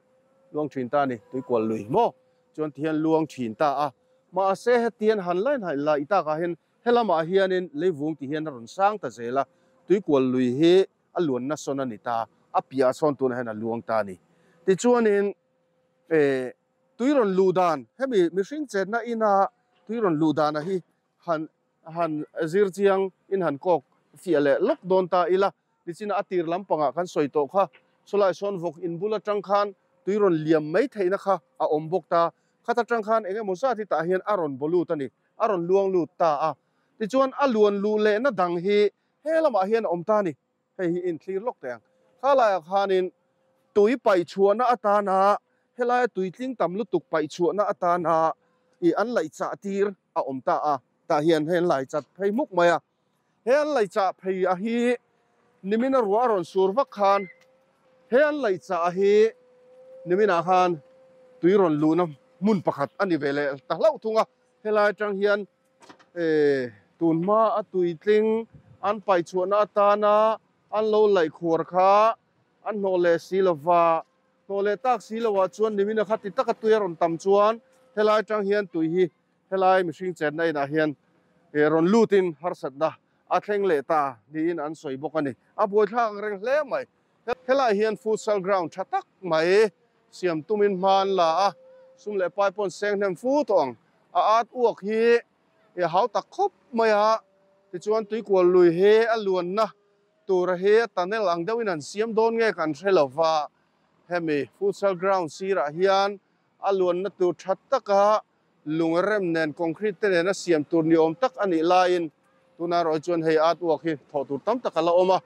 luang thin ta a ni, tuikual lui maw chuan ti hian luang thin ta a. Mahse hetian han lain han la i takah hian helamah hianin leivung ti hian a rawn sang ta zel a, tuikual lui hi a luanna sawn a ni ta, a piahah sawn tunah hian a luang ta a ni. Tichuanin eh tui rawn luh dan, hemi mihring chenna ina tui rawn luh dana hi han han zir chiang in han kawk fiah leh lawk dawn ta ila, Nichin a tir lampangah kan sawi tawh kha, chulai sawn vawk in bul atang khan tui rawn liam mai theihna kha a awm bawk ta. Khat atang khan eng emaw zat hi tah hian a rawn baw lut a ni, a rawn luang lut ta a. Tichuan a luan luh lehna dang hi he lamah hian a awm ta a ni. Hei hi inthlir lawk teh ang. Kha laiah khanin tui paih chhuahna atana helaia tui tling tam lutuk paih chhuahna atana ih an laih chah tir a awm ta a. Tah hian hei an lai chat phei hmuk mai a. He an lei chah phei a hi nimina ruah a rawn sur vak khan He an laih chah hi niminah khan tui rawn luhna hmun pakhat a ni ve leh ta hlauh thung a. Helai atang hian tun hma a tuitling an paih chhuahna atana an lo laih khuar kha an hnawh leh si lova, hnawh leh tak si lovah chuan nimina kha ti taka tui a rawn tam chuan helai atang hian tui hi helai mihring chenna inah hian rawn lutin harsatna a thleng leh ta niin an sawi bawk a ni. A buaithlak ang reng hle mai. Helaiah hian futsal ground tha tak mai siam tumin hma an la a, sum leh pai pawh an seng hnem fu tawh ang. A at uak hi a hau tak khawp mai a, tichuan tuikual lui hi a luanna tura hi a tunnel ang deuhin an siam dawn nge kan hre lo va, hemi futsal ground sirah hian a luanna tur tha taka Lung rem nen concrete te nena siam tur ni awm tak a nih laiin tuna erawh hi chuan hei art work hi thawh tur tam tak a la awm a,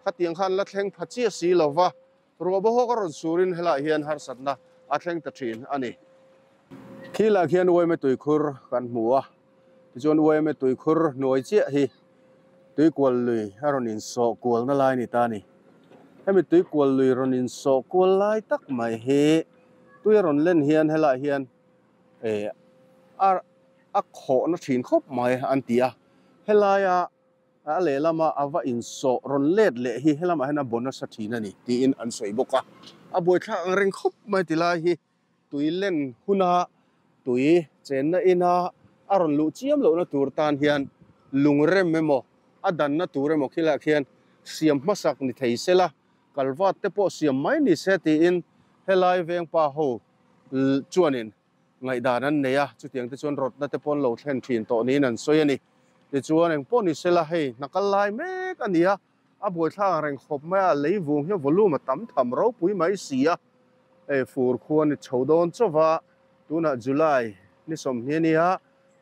khatiang khan la thleng pha chiah si lo va, ruah bawhawk a rawn surin helaiah hian harsatna a thleng ta thin a ni. Khilah khian uaime tuikhur kan hmu a, tichuan uaime tuikhur hnuai chiah hi tuikual lui a rawn insawh kualna lai a ni ta a ni. Hemi tuikual lui rawn insawh kual lai tak mai hi tui a rawn len hian helaiah hian eh a a khawhna thin khawp mai an ti a, helaia a lehlama a va insawh rawn let leh hi helamah hian a baw nasa thin a ni tiin an sawi bawk a, a buaithlak ang reng khawp mai ti lai hi tui len huna tui chenna ina a rawn luh chiam lohna tur tan hian lung rem emaw a danna tur emaw khilaiah khian siam hmasak ni thei sela kalvat te pawh siam mai ni se tiin helai vengpa ho chuanin ngaihdan an nei a, chutiang te chuan rawtna te pawh an lo thlen thin tawh niin an sawi a ni. Tichuan engpawh ni sela hei hna kal lai mek a ni a, a buaithlak ang reng khawp mai a, lei vung hian volume a tam tham ropui mai si a, hei fur khua ni chho dawn chauh va, tunah July ni 20 a nia,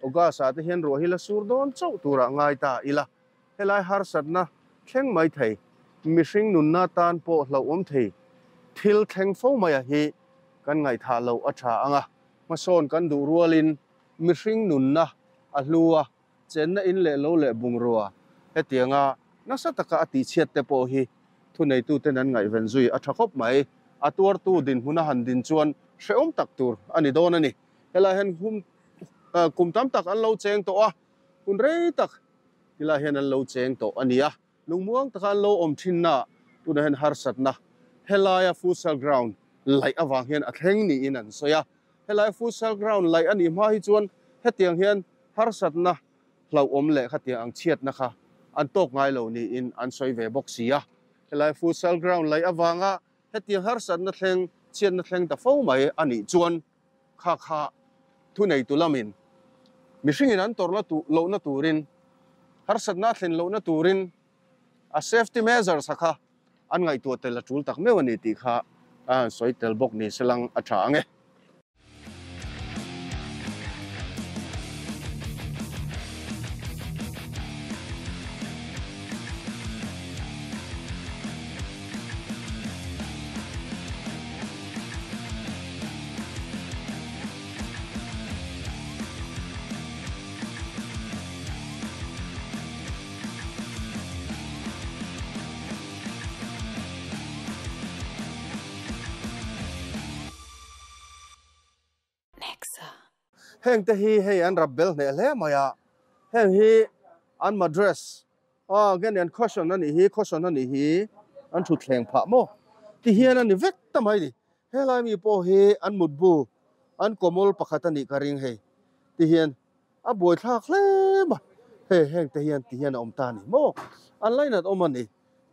August ah te hian ruah hi la sur dawn chauh turah ngai ta ila, Helai harsatna thleng mai thei, mihring nunna tan pawh hlauhawm thei thil thleng fo maia hi kan ngaihthah loh a tha ang a. Hmasawn kan duh rualin mihring nunna a hlu a, chenna in leh lo leh bungrua hetianga nasa taka a tihchhiat te pawh hi thuneituten an ngaihven zui a tha khawp mai. A tuartu dinhmun a han din chuan hrehawm tak tur a ni dawn a ni. Helai hian kum tam tak an lo cheng tawh a, hun rei tak Tilai hian an lo cheng tawh a ni a, lungmuang taka an lo awm thinna tunah hian harsatna helaia futsal ground laih avang hian a thleng niin an sawi a. Helai futsal ground laih a nih hma hi chuan hetiang hian harsatna hlauhawm leh khatiang ang chhiatna kha an tawk ngai lo niin an sawi ve bawk si a. Helai futsal ground laih avanga hetiang harsatna thleng chhiatna thleng ta fo mai a nih chuan Kha kha thuneitu lamin mihringin an tawrhna lohna turin, harsatna a thlen lohna turin a safety measures a kha an ngaihtuah tel a tul tak meuh a ni tih kha a han sawi tel bawk ni se lang a tha ang e. Heng te hi hei an rap bel hneh hle mai a, heng hi an madress a nge ni an caution a nih hi, caution a nih hi an thutthleng phah maw ti hian a ni vek ta mai ni. Helai mi pawh hi an mutbu an kawmawl pakhat a nih ka ring hei ti hian a buaithlak hle mai hei heng te hian ti hian a awm ta a ni maw an lainat awm a ni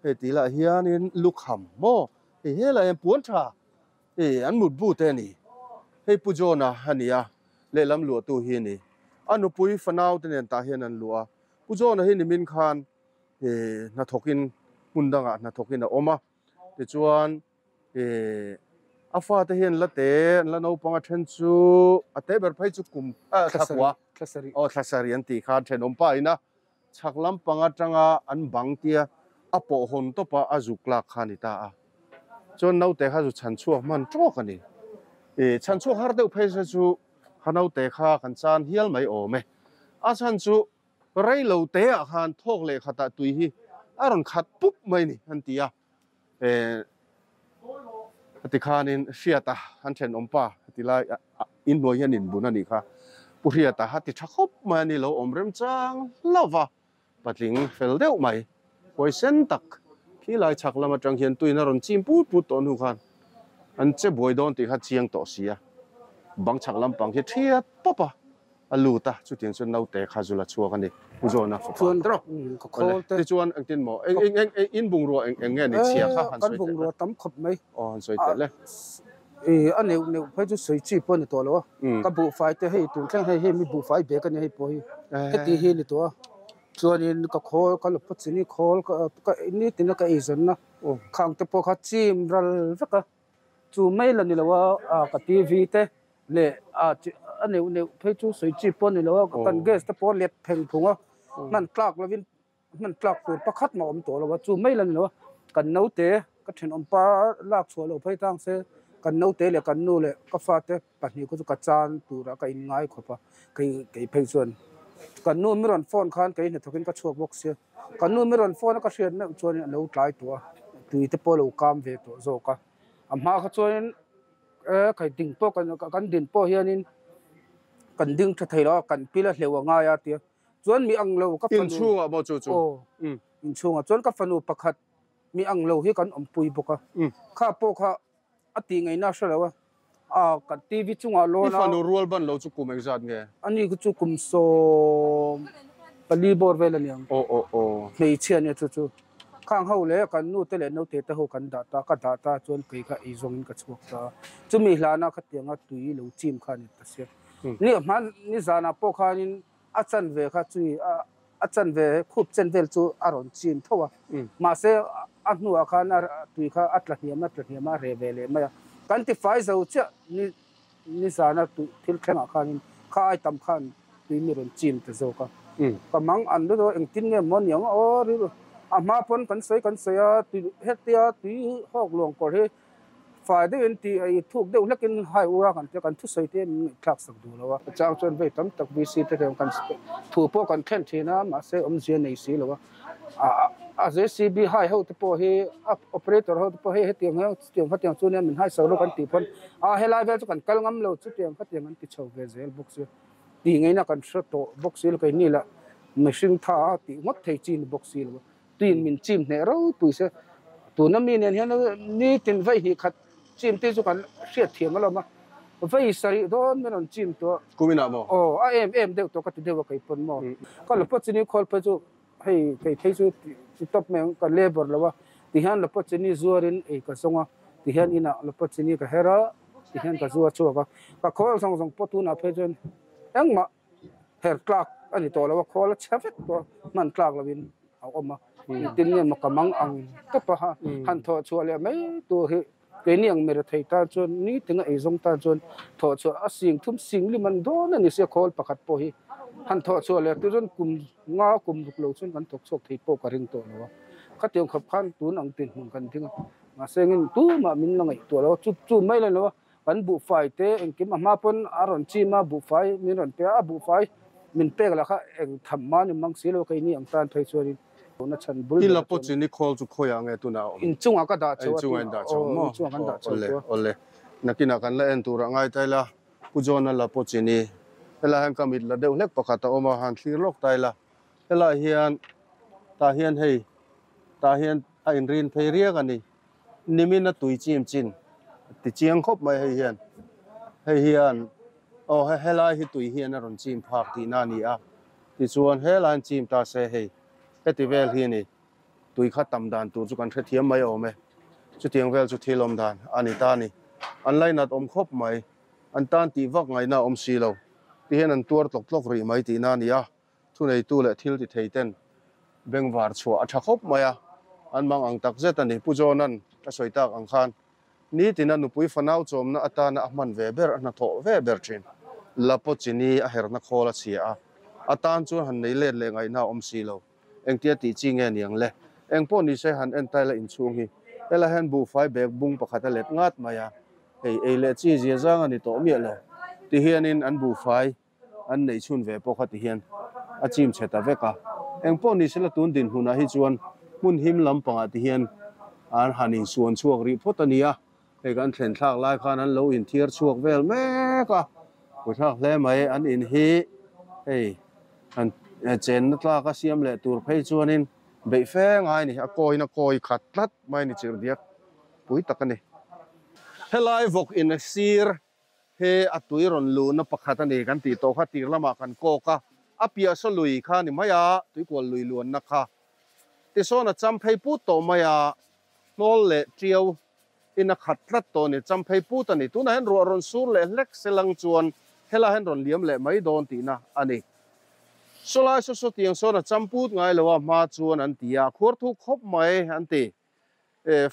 hei tih lah hianin lukham maw hei helai hian puan tha hei an mutbu te a ni hei Pu John-a a ni a lehlam luahtu hi a ni a nupui fanau te nen tah hian an luah a Pu John-a hi nimin khan hnathawkin hmun dangah hnathawkin a awm a tichuan A fate hian la te an la naupang a then chu a te ber phei chu kum thla kua aw thla sarih an tih khan thenawm pa ina chhak lampang atanga an bang tia a pawh hawn tawp a a zuk lak kha a ni ta a chuan naute kha zu chhan chhuak hman tawk a ni chhan chhuak har deuh phei se chu kha naute kha kan chan hial mai awm e a chhan chu rei lo te ah khan thawk leh khatah tui hi a rawn khat pup mai ni an ti a. Tikhanin Hriata an thenawm pa ti lai inhnuai hian inbun a nih kha. Pu Hriata a ti tha khawp mai a ni lo awm remchang hlauh va, patling fel deuh mai, huaisen tak khi lai chhak lam atang hian tuin a rawn chim put put tawh hnu khan an che buai dawn tih kha chiang tawh si a, bang chhak lampang hi thiat pawp a. A lut a, chutiang chuan naute kha zul a chhuak a ni. Pu John-a fapa. Chuan ka khawl te. Tichuan engtin maw? Eng eng eng eng in bungrua eng eng nge ni chhia kha han sawi teh le. Kan bungrua tam khawp mai. Aw han sawi teh le. A neuh neuh phei chu sawi chi pawh a ni tawh lo a. Ka buhfai te hei tun thleng hei hei mi buhfai bag a nia hei pawh hi heti hi a ni tawh a. Chuanin ka khawl ka lawpa chini khawl ka nitin a ka eizawnna khang te pawh kha chim ral vek a. Chu mai la ni lo a ka TV te leh a a neuh neuh phei chu sawi chi pawh a ni lo a kan gas te pawh a let pheng phung a hman tlak lovin hman tlak tur pakhat mah a awm tawh lo a chu mai la ni lo a kan naute ka thenawm pa lak chhuah loh phei tang se kan naute leh kan nu leh ka fate pahnih kha chu ka chan turah ka inngai khawp a kei kei phei chuan kan nu mi rawn phone khan kei hnathawkin ka chhuak bawk sia kan nu mi rawn phone a ka hriat meuh chuan a lo tlai tawh a tui te pawh a lo kam ve tawh zawk a a hma kha chuanin. E kai ding pawh kan kan din pawh hianin kan ding tha thei lo a kan pil a hleuh a ngai a tia chuan mi ang lo ka fanu Inchhungah maw chu chu? Aw inchhungah chuan ka fanu pakhat mi ang lo hi kan awmpui bawk a kha pawh kha a tih ngaihna a hre lo a a kan TV chungah lawn a I fanu rual ban lo chu kum engzat nge? Ani chu kum 14 bawr vel a niang. Aw aw aw. Hmeichhia nia chu chu. Khang ho leh kan nu te leh naute te ho kan dah ta, ka dah ta chuan kei kha ei zawngin ka chhuak ta a. Chumi hlana khatianga tui lo chim kha a ni ta sia. Ni hman ni zanah pawh khanin a chanve kha chui a chanve khup chen vel chu a rawn chim tho a. Mahse a hnuah khan a tui kha a tla hniam a tla hniam a a reh ve leh mai a. Kan tifai zo chiah ni Ni zana tui thil thlengah khanin kha ai tam khan tui mi rawn chim ta zawk a. Ka mang an lut a, engtin nge maw niang aw rilru a hma pawn kan sawi kan sawi a, tui hetia tui hawk luang kawr hi fai deuhin ti a i thuk deuh hlekin hai ura kan tia kan thusawi te min ngaihthlak sak duh lo a. Chang chuan vei tam tak VC te hian kan thu pawh kan thlen thin a, mahse awmzia nei si lo a. A JCB hai ho te pawh hi a operator ho te pawh hei hetiang hian chutiang khatiang chu nia min hai so lo kan tih pawn a helai vel chu kan kal ngam lo chutiang khatiang an ti chho ve zel bawk sia tih ngaihna kan hre tawh bawk si lo keini lah mihring tha a tih ngawt thei chi ni bawk si lo a tuiin min chim hneh ropui se tuna mi nen hian nitin vaih hnih khat chim te chu kan hriat thiam alawm a vei sarih dawn min rawn chim tawh Kuminah maw? Aw a em em deuh tawh ka ti deuh a kei pawn maw ka la pawh chini khawl phei chu Hei kei phei chu ti tawp mai ang ka labour lo a, tihian Lopachini zuarin ei ka zawng a, tihian inah Lopachini ka her a, tihian ka zuar chhuak a, ka khawl zawng zawng pawh tunah phei chuan engmah her tlak a ni tawh lo a, khawl a chhe vek tawh a, hman tlak lovin a awm a, engtin nge maw ka mang ang tawp a, han thawh chhuah leh mai tur hi keini ang mirethei tan chuan nitin a eizawng tan chuan thawh chhuah a sing thum sing lim an dawn a ni sia khawl pakhat pawh hi han thawh chhuah leh tur chuan kum nga kum ruk lo chuan kan thawk chhuak thei pawh ka ring tawh lo a khatiang khawp khan tun ang dinhmun kan ding a mahse engin tumah min la ngaihtuah lo a chu chu mai la lo a kan buhfai te engkim a hma pawn a rawn chim a buhfai min rawn pe a a buhfai min pek lah kha eng tham mah ni mang si lo keini ang tan phei chuanin Na chhan bul I la pawh chin i khawl chu khawiah nge tunah a awm? Inchungah ka dah chho a Inchungah in dah chho maw? Inchungah kan dah chho Awle, awle. Nakinah kan la en turah ngai ta ila, Pu John-a la pawh chin i helai hian ka mit la deuh hlek pakhat a awm a, han thlir lawk ta ila. Helai hian, tah hian hei, tah hian a inrin phei riak a ni. Nimin a tui chim chin ti chiang khawp mai hei hian. Hei hian, aw helai hi tui hian a rawn chim phak tihna a ni a. Tichuan helaiin chim ta se hei heti vel hi a ni, tui kha tam dan tur chu kan hrethiam mai awm e. Chutiang vel chu thil awm dan a ni ta a ni. An lainat awm khawp mai, an tan tih vak ngaihna a awm si lo. Tihian an tuar tlawk tlawk rih mai tihna a ni a, thuneitu leh thil ti thei ten bengvar chhuah a tha khawp mai a, an mang ang tak zet a ni. Pu John-a'n a sawi tak ang khan Nitina nupui fanau chawmna atana a hman ve ber, a hnathawh ve ber thin. Lapo chini a herna khawl a chhia a, a tan chuan han nei let leh ngaihna a awm si lo. Engtia tih chi nge niang le? Eng pawh ni se han en taila inchhung hi. Hela hian buhfai bag bung pakhat a let ngat mai a, hei ei leh chi zia zang a ni tawh miah lo. Tihianin an buhfai an neih chhun ve pawh kha ti hian a chim chhe ta vek a. Eng pawh ni sela tun dinhmunah hi chuan hmun him lampangah ti hian an han insuan chhuak rih phawt a ni a. Hei kan thlen thlak lai khan an lo inthiar chhuak vel mek a, buaithlak hle mai an in hi hei han chenna tlak a siam leh tur phei chuanin beih fe ngai a ni, a kawiin a kawi khat tlat mai a ni chirhdiak pui tak a ni. Helai vawk in a sir he a tui rawn luhna pakhat a ni kan tih tawh kha tir lamah kan kawk a, a piah saw lui kha a ni mai a, tuikual lui luanna kha tisawn a cham phei put tawh mai a, hnawl leh tiau in a khat tlat tawh a ni, champhei put a ni. Tunah hian ruah rawn sur leh hlek se lang chuan helaiah hian rawn liam leh mai dawn tihna a ni. Sawlai saw saw tiang sawn a cham put ngai lo a, hma chuan an ti a, a khuar thuk khawp mai an ti.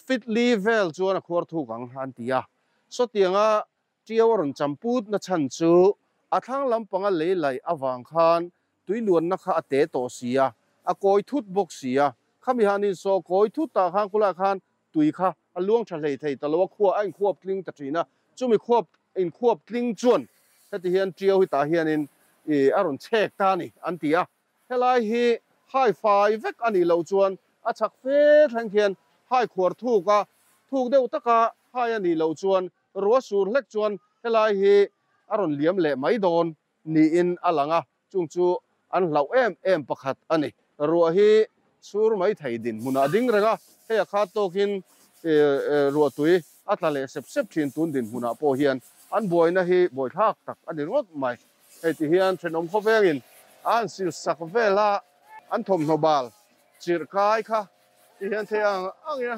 Fit li vel chuan a khuar thuk ang an ti a. Sawtianga Tiau a rawn cham put na chhan chu a thlang lampanga lei laih avang khan tui luanna kha a te tawh si a, a kawi thut bawk si a. Khami han insaw kawi thut tah khan khulaiah khan tui kha a luang tha hlei thei ta lo a, khua a inkhuap tling ta thin a. Chumi khuap inkhuap tling chuan heti hian Tiau hi tah hianin a rawn chhek ta a ni an ti a. Helai hi hai fai vek a nih loh chuan a chhak fe thleng khian hai khuar thuk a, thuk deuh taka hai a nih loh chuan Ruah sur hlek chuan helai hi a rawn liam leh mai dawn niin a lang a, chung chu an hlauh em em pakhat a ni. Ruah hi sur mai thei dinhmunah a ding reng a, hei a khat tawkin ruahtui a tla leh sep sep thin tun dinhmunah pawh hian an buaina hi buaithlak tak a ni ringawt mai. Hei ti hian thenawm khawvengin a han sil sak vel a, an thawmhnaw bal chirh kai kha ti hian thei ang angin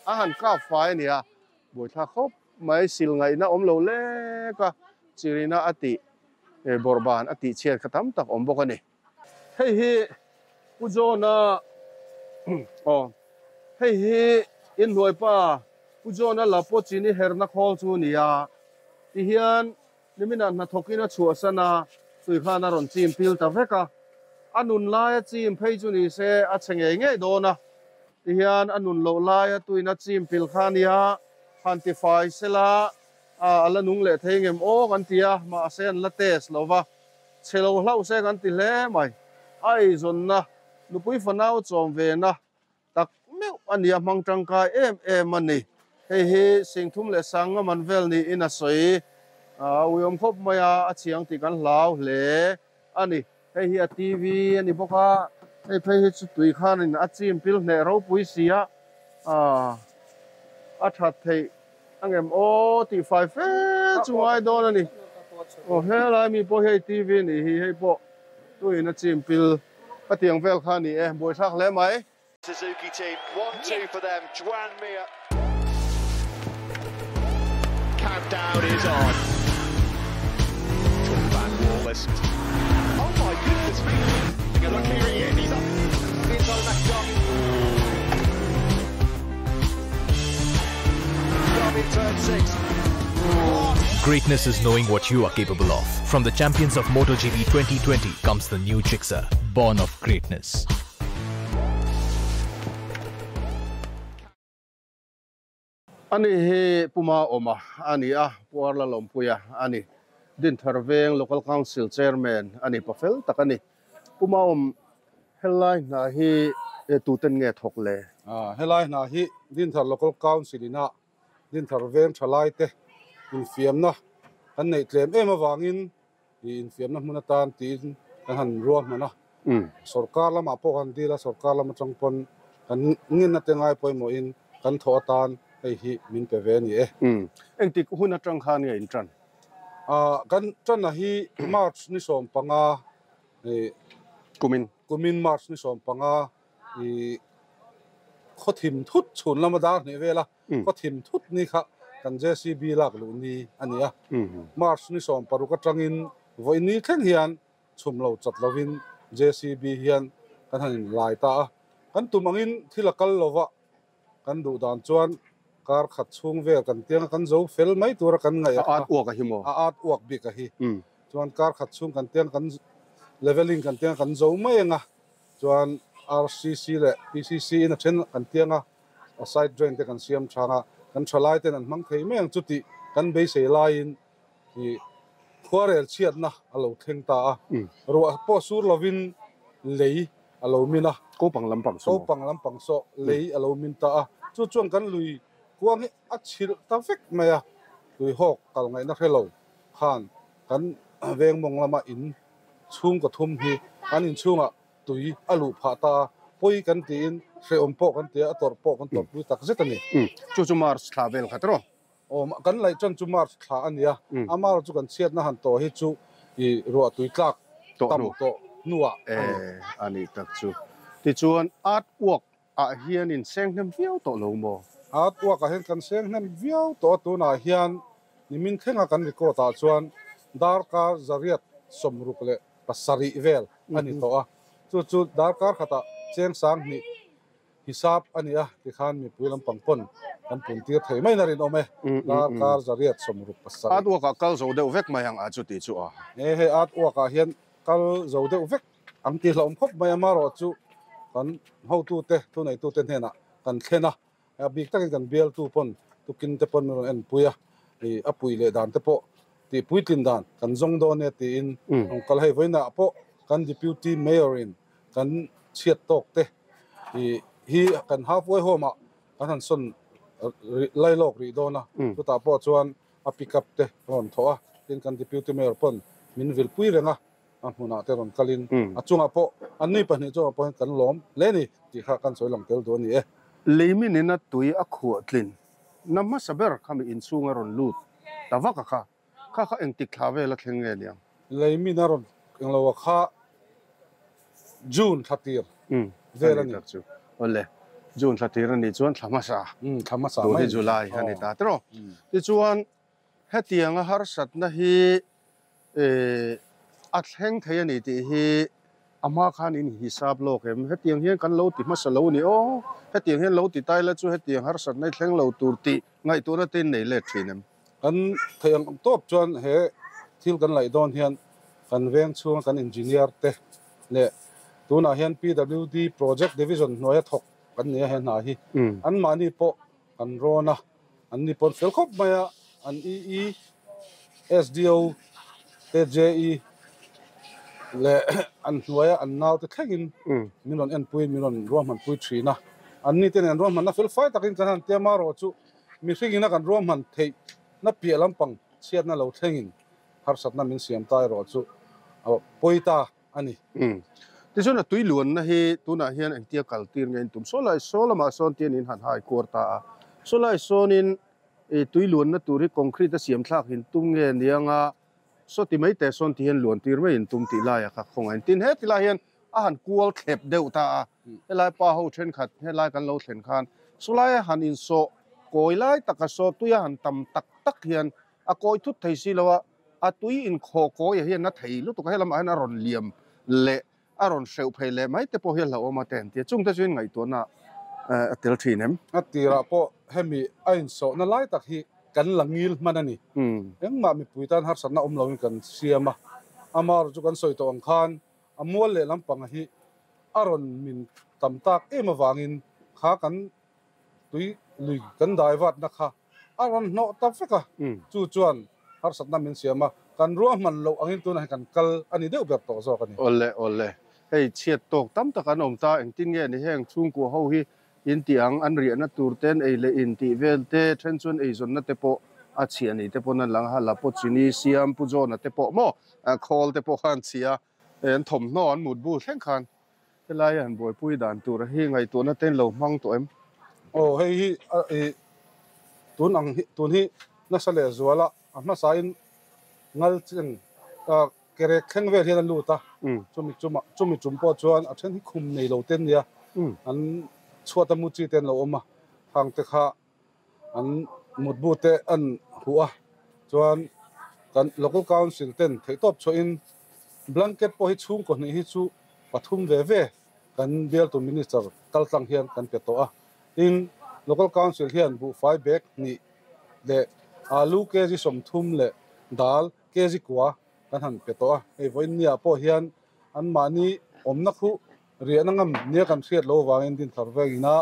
a han kap fai a ni a. Buaithlak khawp mai sil ngaihna awm lo lek a, chirina a tih bawrhban a tih chhiat kha tam tak awm bawk a ni. Hei hi Pu John-a aw hei hi inhnuaipa Pu John-a la pawh chini herna khawl chu a ni a, tihian niminah hnathawkin a chhuahsan a, tui khan a rawn chim pil ta vek a, a nun laia chim phei chu ni se a chhe ngei ngei dawn a. Tihian a nun loh laia tuina chim pil kha a nia, han ti fai sela a la nung leh thei ngem aw kan ti a, mahse an la test lo va, chhe lo hlauh se kan ti hle mai. A eizawnna, nupui fanau chawm vena tak meuh a nia, hmang tangkai em em a ni. Hei hi Singthum leh Sangaman vel niin a sawi a uiawm khawp mai a, a chhiang tih kan hlau hle a ni. Hei hi a TV a ni bawk a, hei phei hi chu tui khanin a chim pil hneh ropui si a, aah a that theih angem aw tih fai fe chu ngai dawn a ni. Aw helai mi pawh hi hei TV a nih hi, hei pawh tuiin a chim pil ka tiang vel kha a ni e, buaithlak hle mai. Suzuki team, 1-2 for them, Joan Mir. Countdown is on. Van Wallace. Oh my goodness me. Look here he is, he's up the inside of McDonald. In turn 6. Greatness is knowing what you are capable of. From the champions of MotoGP 2020 comes the new Gixxer, born of greatness. Ani hi Puma awma a ni a, Pu Arla Lawmpuia a ni. Dinthar Veng Local Council Chairman a ni, pafel tak a ni. Puma awm helai hna hi tuten nge thawk le? Helai hna hi Dinthar Local Council ina Dinthar Veng thalaite infiamna kan neih tlem em avangin infiamna hmun atan tiin kan han ruahman a. Sorkar lamah pawh kan dil a, sorkar lam atang pawn kan ngenna te ngai pawimawhin kan thawh atan hei hi min pe ve a ni e. Engtik hun atang khan nge in tan? Kan tanna hi March ni 15, Kumin. Kumin March ni 15 khaw thim thut chhun lama dar hnih vel a, khaw thim thut ni kha kan JCB lak luh ni a ni a. March ni 16 atangin vawi ni thleng hian chhum lo chat lovin JCB hian kan han inlai ta a. Kan tum angin thil a kal lova kan duh dan chuan kar khat chhung vel kan tiang a kan zo fel mai tura kan ngaih a at uak a hi maw? A at uak bik a hi. Chuan kar khat chhung kan tiang kan leveling kan tiang kan zo mai anga chuan RCC leh PCC in a then kan tiang a, a side drain te kan siam thang a, kan thalai ten an hmang thei mai ang chu tih kan beisei laiin ih khuarel chhiatna a lo thleng ta a, ruah pawh sur lovin lei a lo min a. Kopang lampang saw. Kopang lampang saw lei a lo min ta a, chu chuan kan lui. Kuang hi a chhilh ta vek mai a, tuihawk kal ngaihna hre lo khan kan veng mawng lama in chhungkaw thum hi an inchhungah tui a luh phah ta a, pawi kan tiin hrehawm pawh kan ti a, a tawrh pawh kan tawrhpui tak zet a ni. Chu chu March thla vel khat rawh. Aw, kan laih chan chu March thla a ni a, a mar chu kan chhiatna han tawh hi chu i ruah tui tlak tam tawh hnuah a ni. A nih tak chu. Tichuan art work ah hian in seng hnem viau tawh lo maw? Art work ah hian kan seng hnem viau tawh a, tunah hian nimin thlenga kan record ah chuan darkar 167 vel a ni tawh a, chu chu darkar khatah cheng 2000 hisap a ni a, tikhan mipui lampang pawn kan pun tir thei mai na rinawm e, darkar 167. Art work ah kal zo deuh vek mai ang a chuti chu a. E hei art work ah hian kal zo deuh vek ang tih hlauhawm khawp mai a, marawh chu kan hotute thuneitute hnenah kan thlen a, a bik takin kan bialtu pawn tukin te pawn min rawn enpui a, ih a pui leh dan te pawh tih puitlin dan kan zawng dawn e tiin rawn kal hei vawiinah pawh kan deputy mayor in kan chhiat tawk te ih hi kan halfway home ah kan han sawn lai lawk rih dawn a, chutah pawh chuan a pick up te rawn thawh a, tin kan deputy mayor pawn min vilpui reng a, a hmunah te rawn kalin a chungah pawh an nui pahnih chungah pawh hian kan lawm hle a ni tih kha kan sawi lang tel duh a ni e. Leimin ina tui a khuah tlin na hmasa ber khami inchhung a rawn lut ta vak a kha, kha kha engtik thla vel a thleng nge niang? Leimin a rawn englo a kha June thla tir vel a ni. Awle, June thla tir a nih chuan thla hmasa, thla hmasa tun hi July a ni ta tiraw. Tichuan hetianga harsatna hi a thleng thei a ni tih hi a hma khan in hisap lawk em? Hetiang hian kan lo ti hmasa lo a ni aw, hetiang hian lo ti tai la chu hetiang harsatna hi thleng lo tur tih ngaihtuahna te in nei let thin em? Kan theih ang tawp chuan he thil kan laih dawn hian kan veng chhunga kan engineer te leh tunah hian PWD project division hnuaia thawk kan ni a he hna hi anmahni pawh kan rawn a, an ni pawn fel khawp mai a, an EE, SDO te JE leh an hnuaia an naute thlengin min rawn enpui min rawn ruahmanpui thin a, an ni te nen ruahmanna fel fai takin kan han tia marawh chu mihring ina kan ruahman theih na piah lampang chhiatna lo thlengin harsatna min siam ta erawh chu a pawi ta a ni. Tichuan a tui luanna hi tunah hian engtia kal tir nge in tum? Saw lai saw lamah sawn tian in han hai kuar ta a, saw lai sawnin tui luanna tur hi concrete a siam thlak in tum nge nianga saw ti mai teh sawn ti hian luan tir mai in tum tih laia kha khawngaih in tin. Heti lai hian a han kual thlep deuh ta a, helai pa ho thenkhat helai kan lo thlen khan saw laia han insawh kawi lai taka saw tuia han tam tak tak hian a kawi thut thei si lo a, a tui inkhawh kawiah hian a thei lutuk a, helamah hian a rawn liam leh a rawn hreuh phei leh mai te pawh hi a hlauhawm a te an ti a, chungte chu in ngaihtuahna a tel thin em? A tirah pawh hemi a insawhna lai tak hi kan la ngil hman a ni. Engmah mipui tan harsatna awm loin kan siam a, amaherawhchu chu kan sawi tawh ang khan a mual leh lampanga hi a rawn min tam tak em avangin kha kan tui lui kan dai vatna kha a rawn hnawh ta vek a, chu chuan harsatna min siam a, kan ruahman loh angin tunah hian kan kal a ni deuh ber tawh zawk a ni. Awle awle, hei chhiat tawk tam tak an awm ta, engtin nge ni heng chhungkua ho hi in tih ang, an riahna tur ten ei leh in tih vel te, then chuan eizawnna te pawh a chhiah ni te pawn an lang a, la pawh chini siam pu John-a te pawh maw khawl te pawh kha an chhia a, an thawmhnaw an mutbu thleng khan Helai han buaipui dan tur hi ngaihtuahna te in lo hmang tawh em? Aw hei hi i tun ang hi tun hi nasa leh zuala a hmasain ngal cheng kerek thleng vel hian a lut a, chumi chuma chumi tum pawh chuan a then hi khum nei lo te an nia, an chhuat a mu chi te an lo awm a, khang te kha an mutbu te an huh a, chuan kan local council ten theihtawp chhuahin blanket pawh hi chhungkaw hnih hi chu pathum ve ve kan bialtu minister kal tlang hian kan pe tawh a, tin local council hian buhfai bag hnih leh alu kg 30 leh dal kg kua kan han pe tawh a, hei vawiin niah pawh hian anmahni awmna khu riahna ngam nia kan hriat lo avangin Dinthar vengina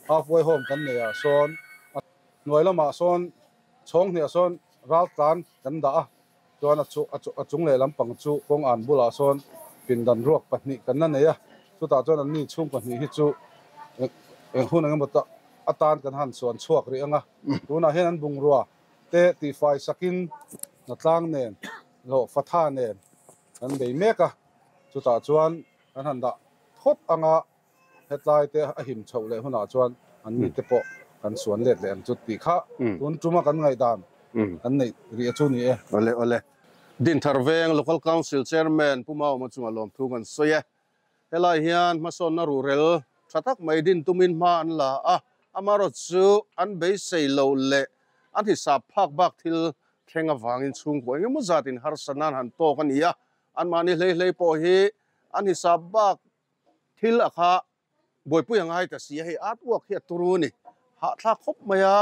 halfway home kan nei ah sawn a hnuai lamah sawn chhawng hniah sawn ral tlan kan dah a, chuan a chu a chung leh lampang chu kawng an bulah sawn pindan ruak pahnih kan la nei a, chutah chuan anni chhung pahnih hi chu eng hun eng emaw tak atan kan han suan chhuak rih anga tunah hian an bungrua te tihfai sakin hnatlang nen hlawh fatha nen kan bei mek a chutah chuan kan han dah thawt anga hetlai te a him chhoh leh hunah chuan an mite pawh kan suan let leh ang chu tih kha tun tuma kan ngaihdan kan neih rih a chu ni e. Awle awle. Dinthar Veng Local Council Chairman Pu Mauma chunga lawmthu kan sawi e. Helai hian hmasawnna ruhrel tha tak mai din tumin hma an la a, amaherawh chu an beisei loh leh an hisap phak bak thil thleng avangin chhungkaw engemaw zatin harsa nan han tawk a ni a, anmahni hlei hlei pawh hi an hisap bak thil a kha buaipui a ngai ta si a, hei artwork hi a turu a ni. Hahthlak khawp mai a,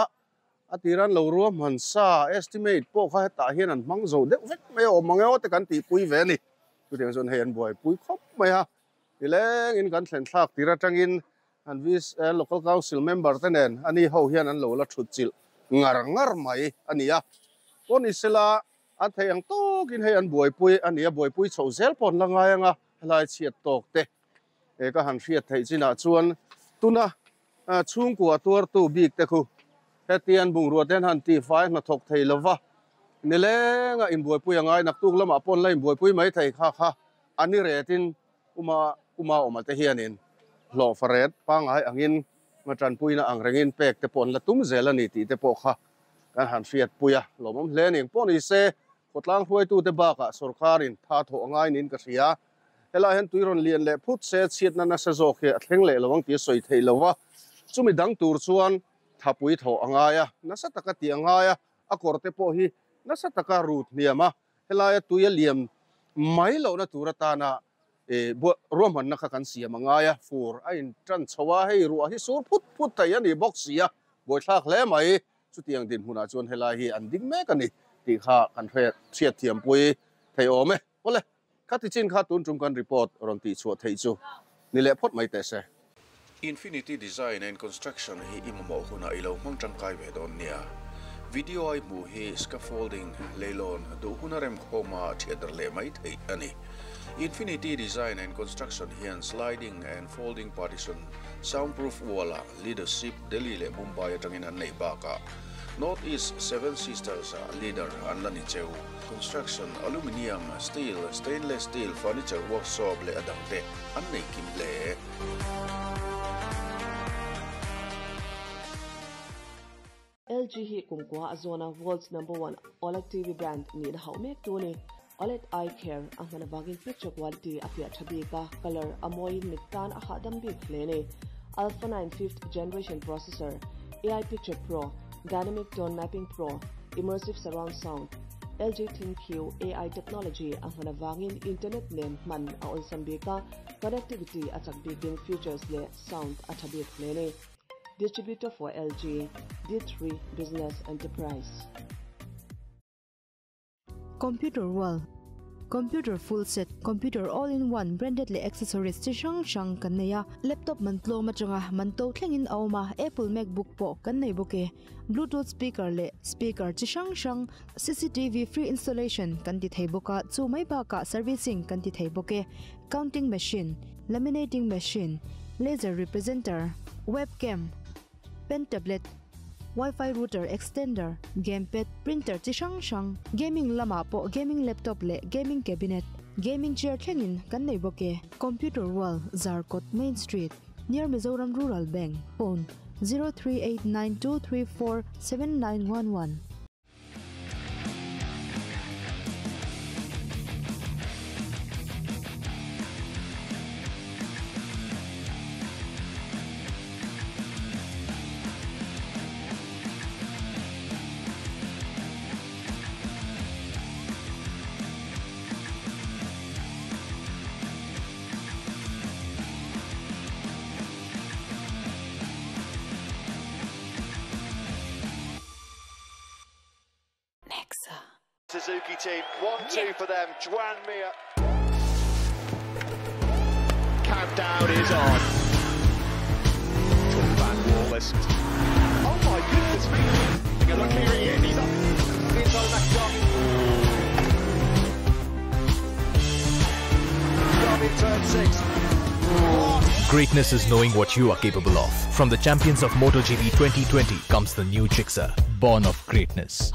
a tiran lo ruahman sa estimate pawh kha hetah hian an hmang zo deuh vek mai a, awm ang emaw te kan tihpui ve a ni. Chutiang chuan hei an buaipui khawp mai a, nilengin kan thlen thlak tir atangin an Local Council member te nen ani ho hian an lo la thut chilh ngar ngar mai a ni a. Pawh ni sela an theih ang tawkin hei an buaipui a ni a, buaipui chhoh zel pawh an la ngai ang a, helai chhiat tawk te he ka han hriat theih chinah chuan tuna chhungkua tuartu bik te khu hetian bungrua te an han tihfai hnathawk thei lova nilenga inbuaipui a ngai naktuk lamah pawh an la inbuaipui mai thei kha kha a ni retin uma uma awma te hianin hlawh faret pangngai angin tanpuina ang rengin pek te pawh an la tum zel a ni tih te pawh kha kan han hriatpui a lawmawm hle a ni. Pawh ni se khawtlang hruaitute bakah sorkarin tha thawh a ngai niin ka hria. Helai hian tui rawn lian leh phut se chhiatna nasa zawk hi a thleng leh lo ang tih a sawi theih lo va, chumi dang tur chuan thapui thawh a ngai a, nasa taka tih a ngai a, a kawr te pawh hi nasa taka rut hniam a, helaia tui a liam mai lohna tur atana ruahmanna kha kan siam a ngai a, fur a in tan chho a, hei ruah hi sur phut phut thei a ni bawk si a, buaithlak hle mai. Chutiang dinhmunah chuan helai hi an ding mek a ni tih kha kan hriat thiampui thei awm e. Awle, khati chin kha tun tum kan report rawn tih chhuah theih chu ni leh phawt mai teh se. Infinity Design and Construction hi i mamawh hunah i lo hmang tangkai ve dawn nia. Video a i hmuh hi scaffolding, leilawn, duh huna remkhawma thiat dar leh mai theih a ni. Infinity Design and Construction hian sliding and folding partition, soundproof wall-ah leadership Delhi leh Mumbai atangin an neih bakah North East Seven Sisters-ah leader an la ni cheu. Construction, aluminium, steel, stainless steel, furniture workshop leh a dangte an nei kim hle. LG hi kumkua a zawna world's number one OLED TV brand nihna hauh mek tu a ni. OLED Eye Care a hman avangin picture quality a fiah tha bik a, colour a mawiin mit tan a hahdam bik hle a ni. Alpha 9 fifth generation processor, AI Picture Pro, Dynamic Tone Mapping Pro, Immersive Surround Sound, LG ThinQ AI technology a hman avangin internet nen hman a awlsam bik a, connectivity a chak bikin features leh sound a tha bik hle a ni. Distributor for LG, D3 Business Enterprise. Computer World, Computer full set, Computer all in one branded leh accessories chi hrang hrang kan nei a, laptop man tlawm atanga man to thlengin a awm a, Apple MacBook pawh kan nei bawk e. Bluetooth speaker leh speaker chi hrang hrang, CCTV free installation kan ti thei bawk a, chu mai bakah servicing kan ti thei bawk e. Counting machine, laminating machine, laser representer, webcam, pen tablet, Wi-Fi router extender, gamepad, printer chi hrang hrang, gaming lamah pawh gaming laptop leh gaming cabinet, gaming chair thlengin kan nei bawk e. Computer World, Zarkawt Main Street, near Mizoram Rural Bank, phone, 0389 234 7911. Suzuki team, 1-2 for them. Joan Mir. Countdown is on. Van Wallace. Oh my goodness me. Take a look here he is. He's up the inside of Max Darby. Darby turn 6. What? Greatness is knowing what you are capable of. From the champions of MotoGP 2020 comes the new Gixxer, born of greatness.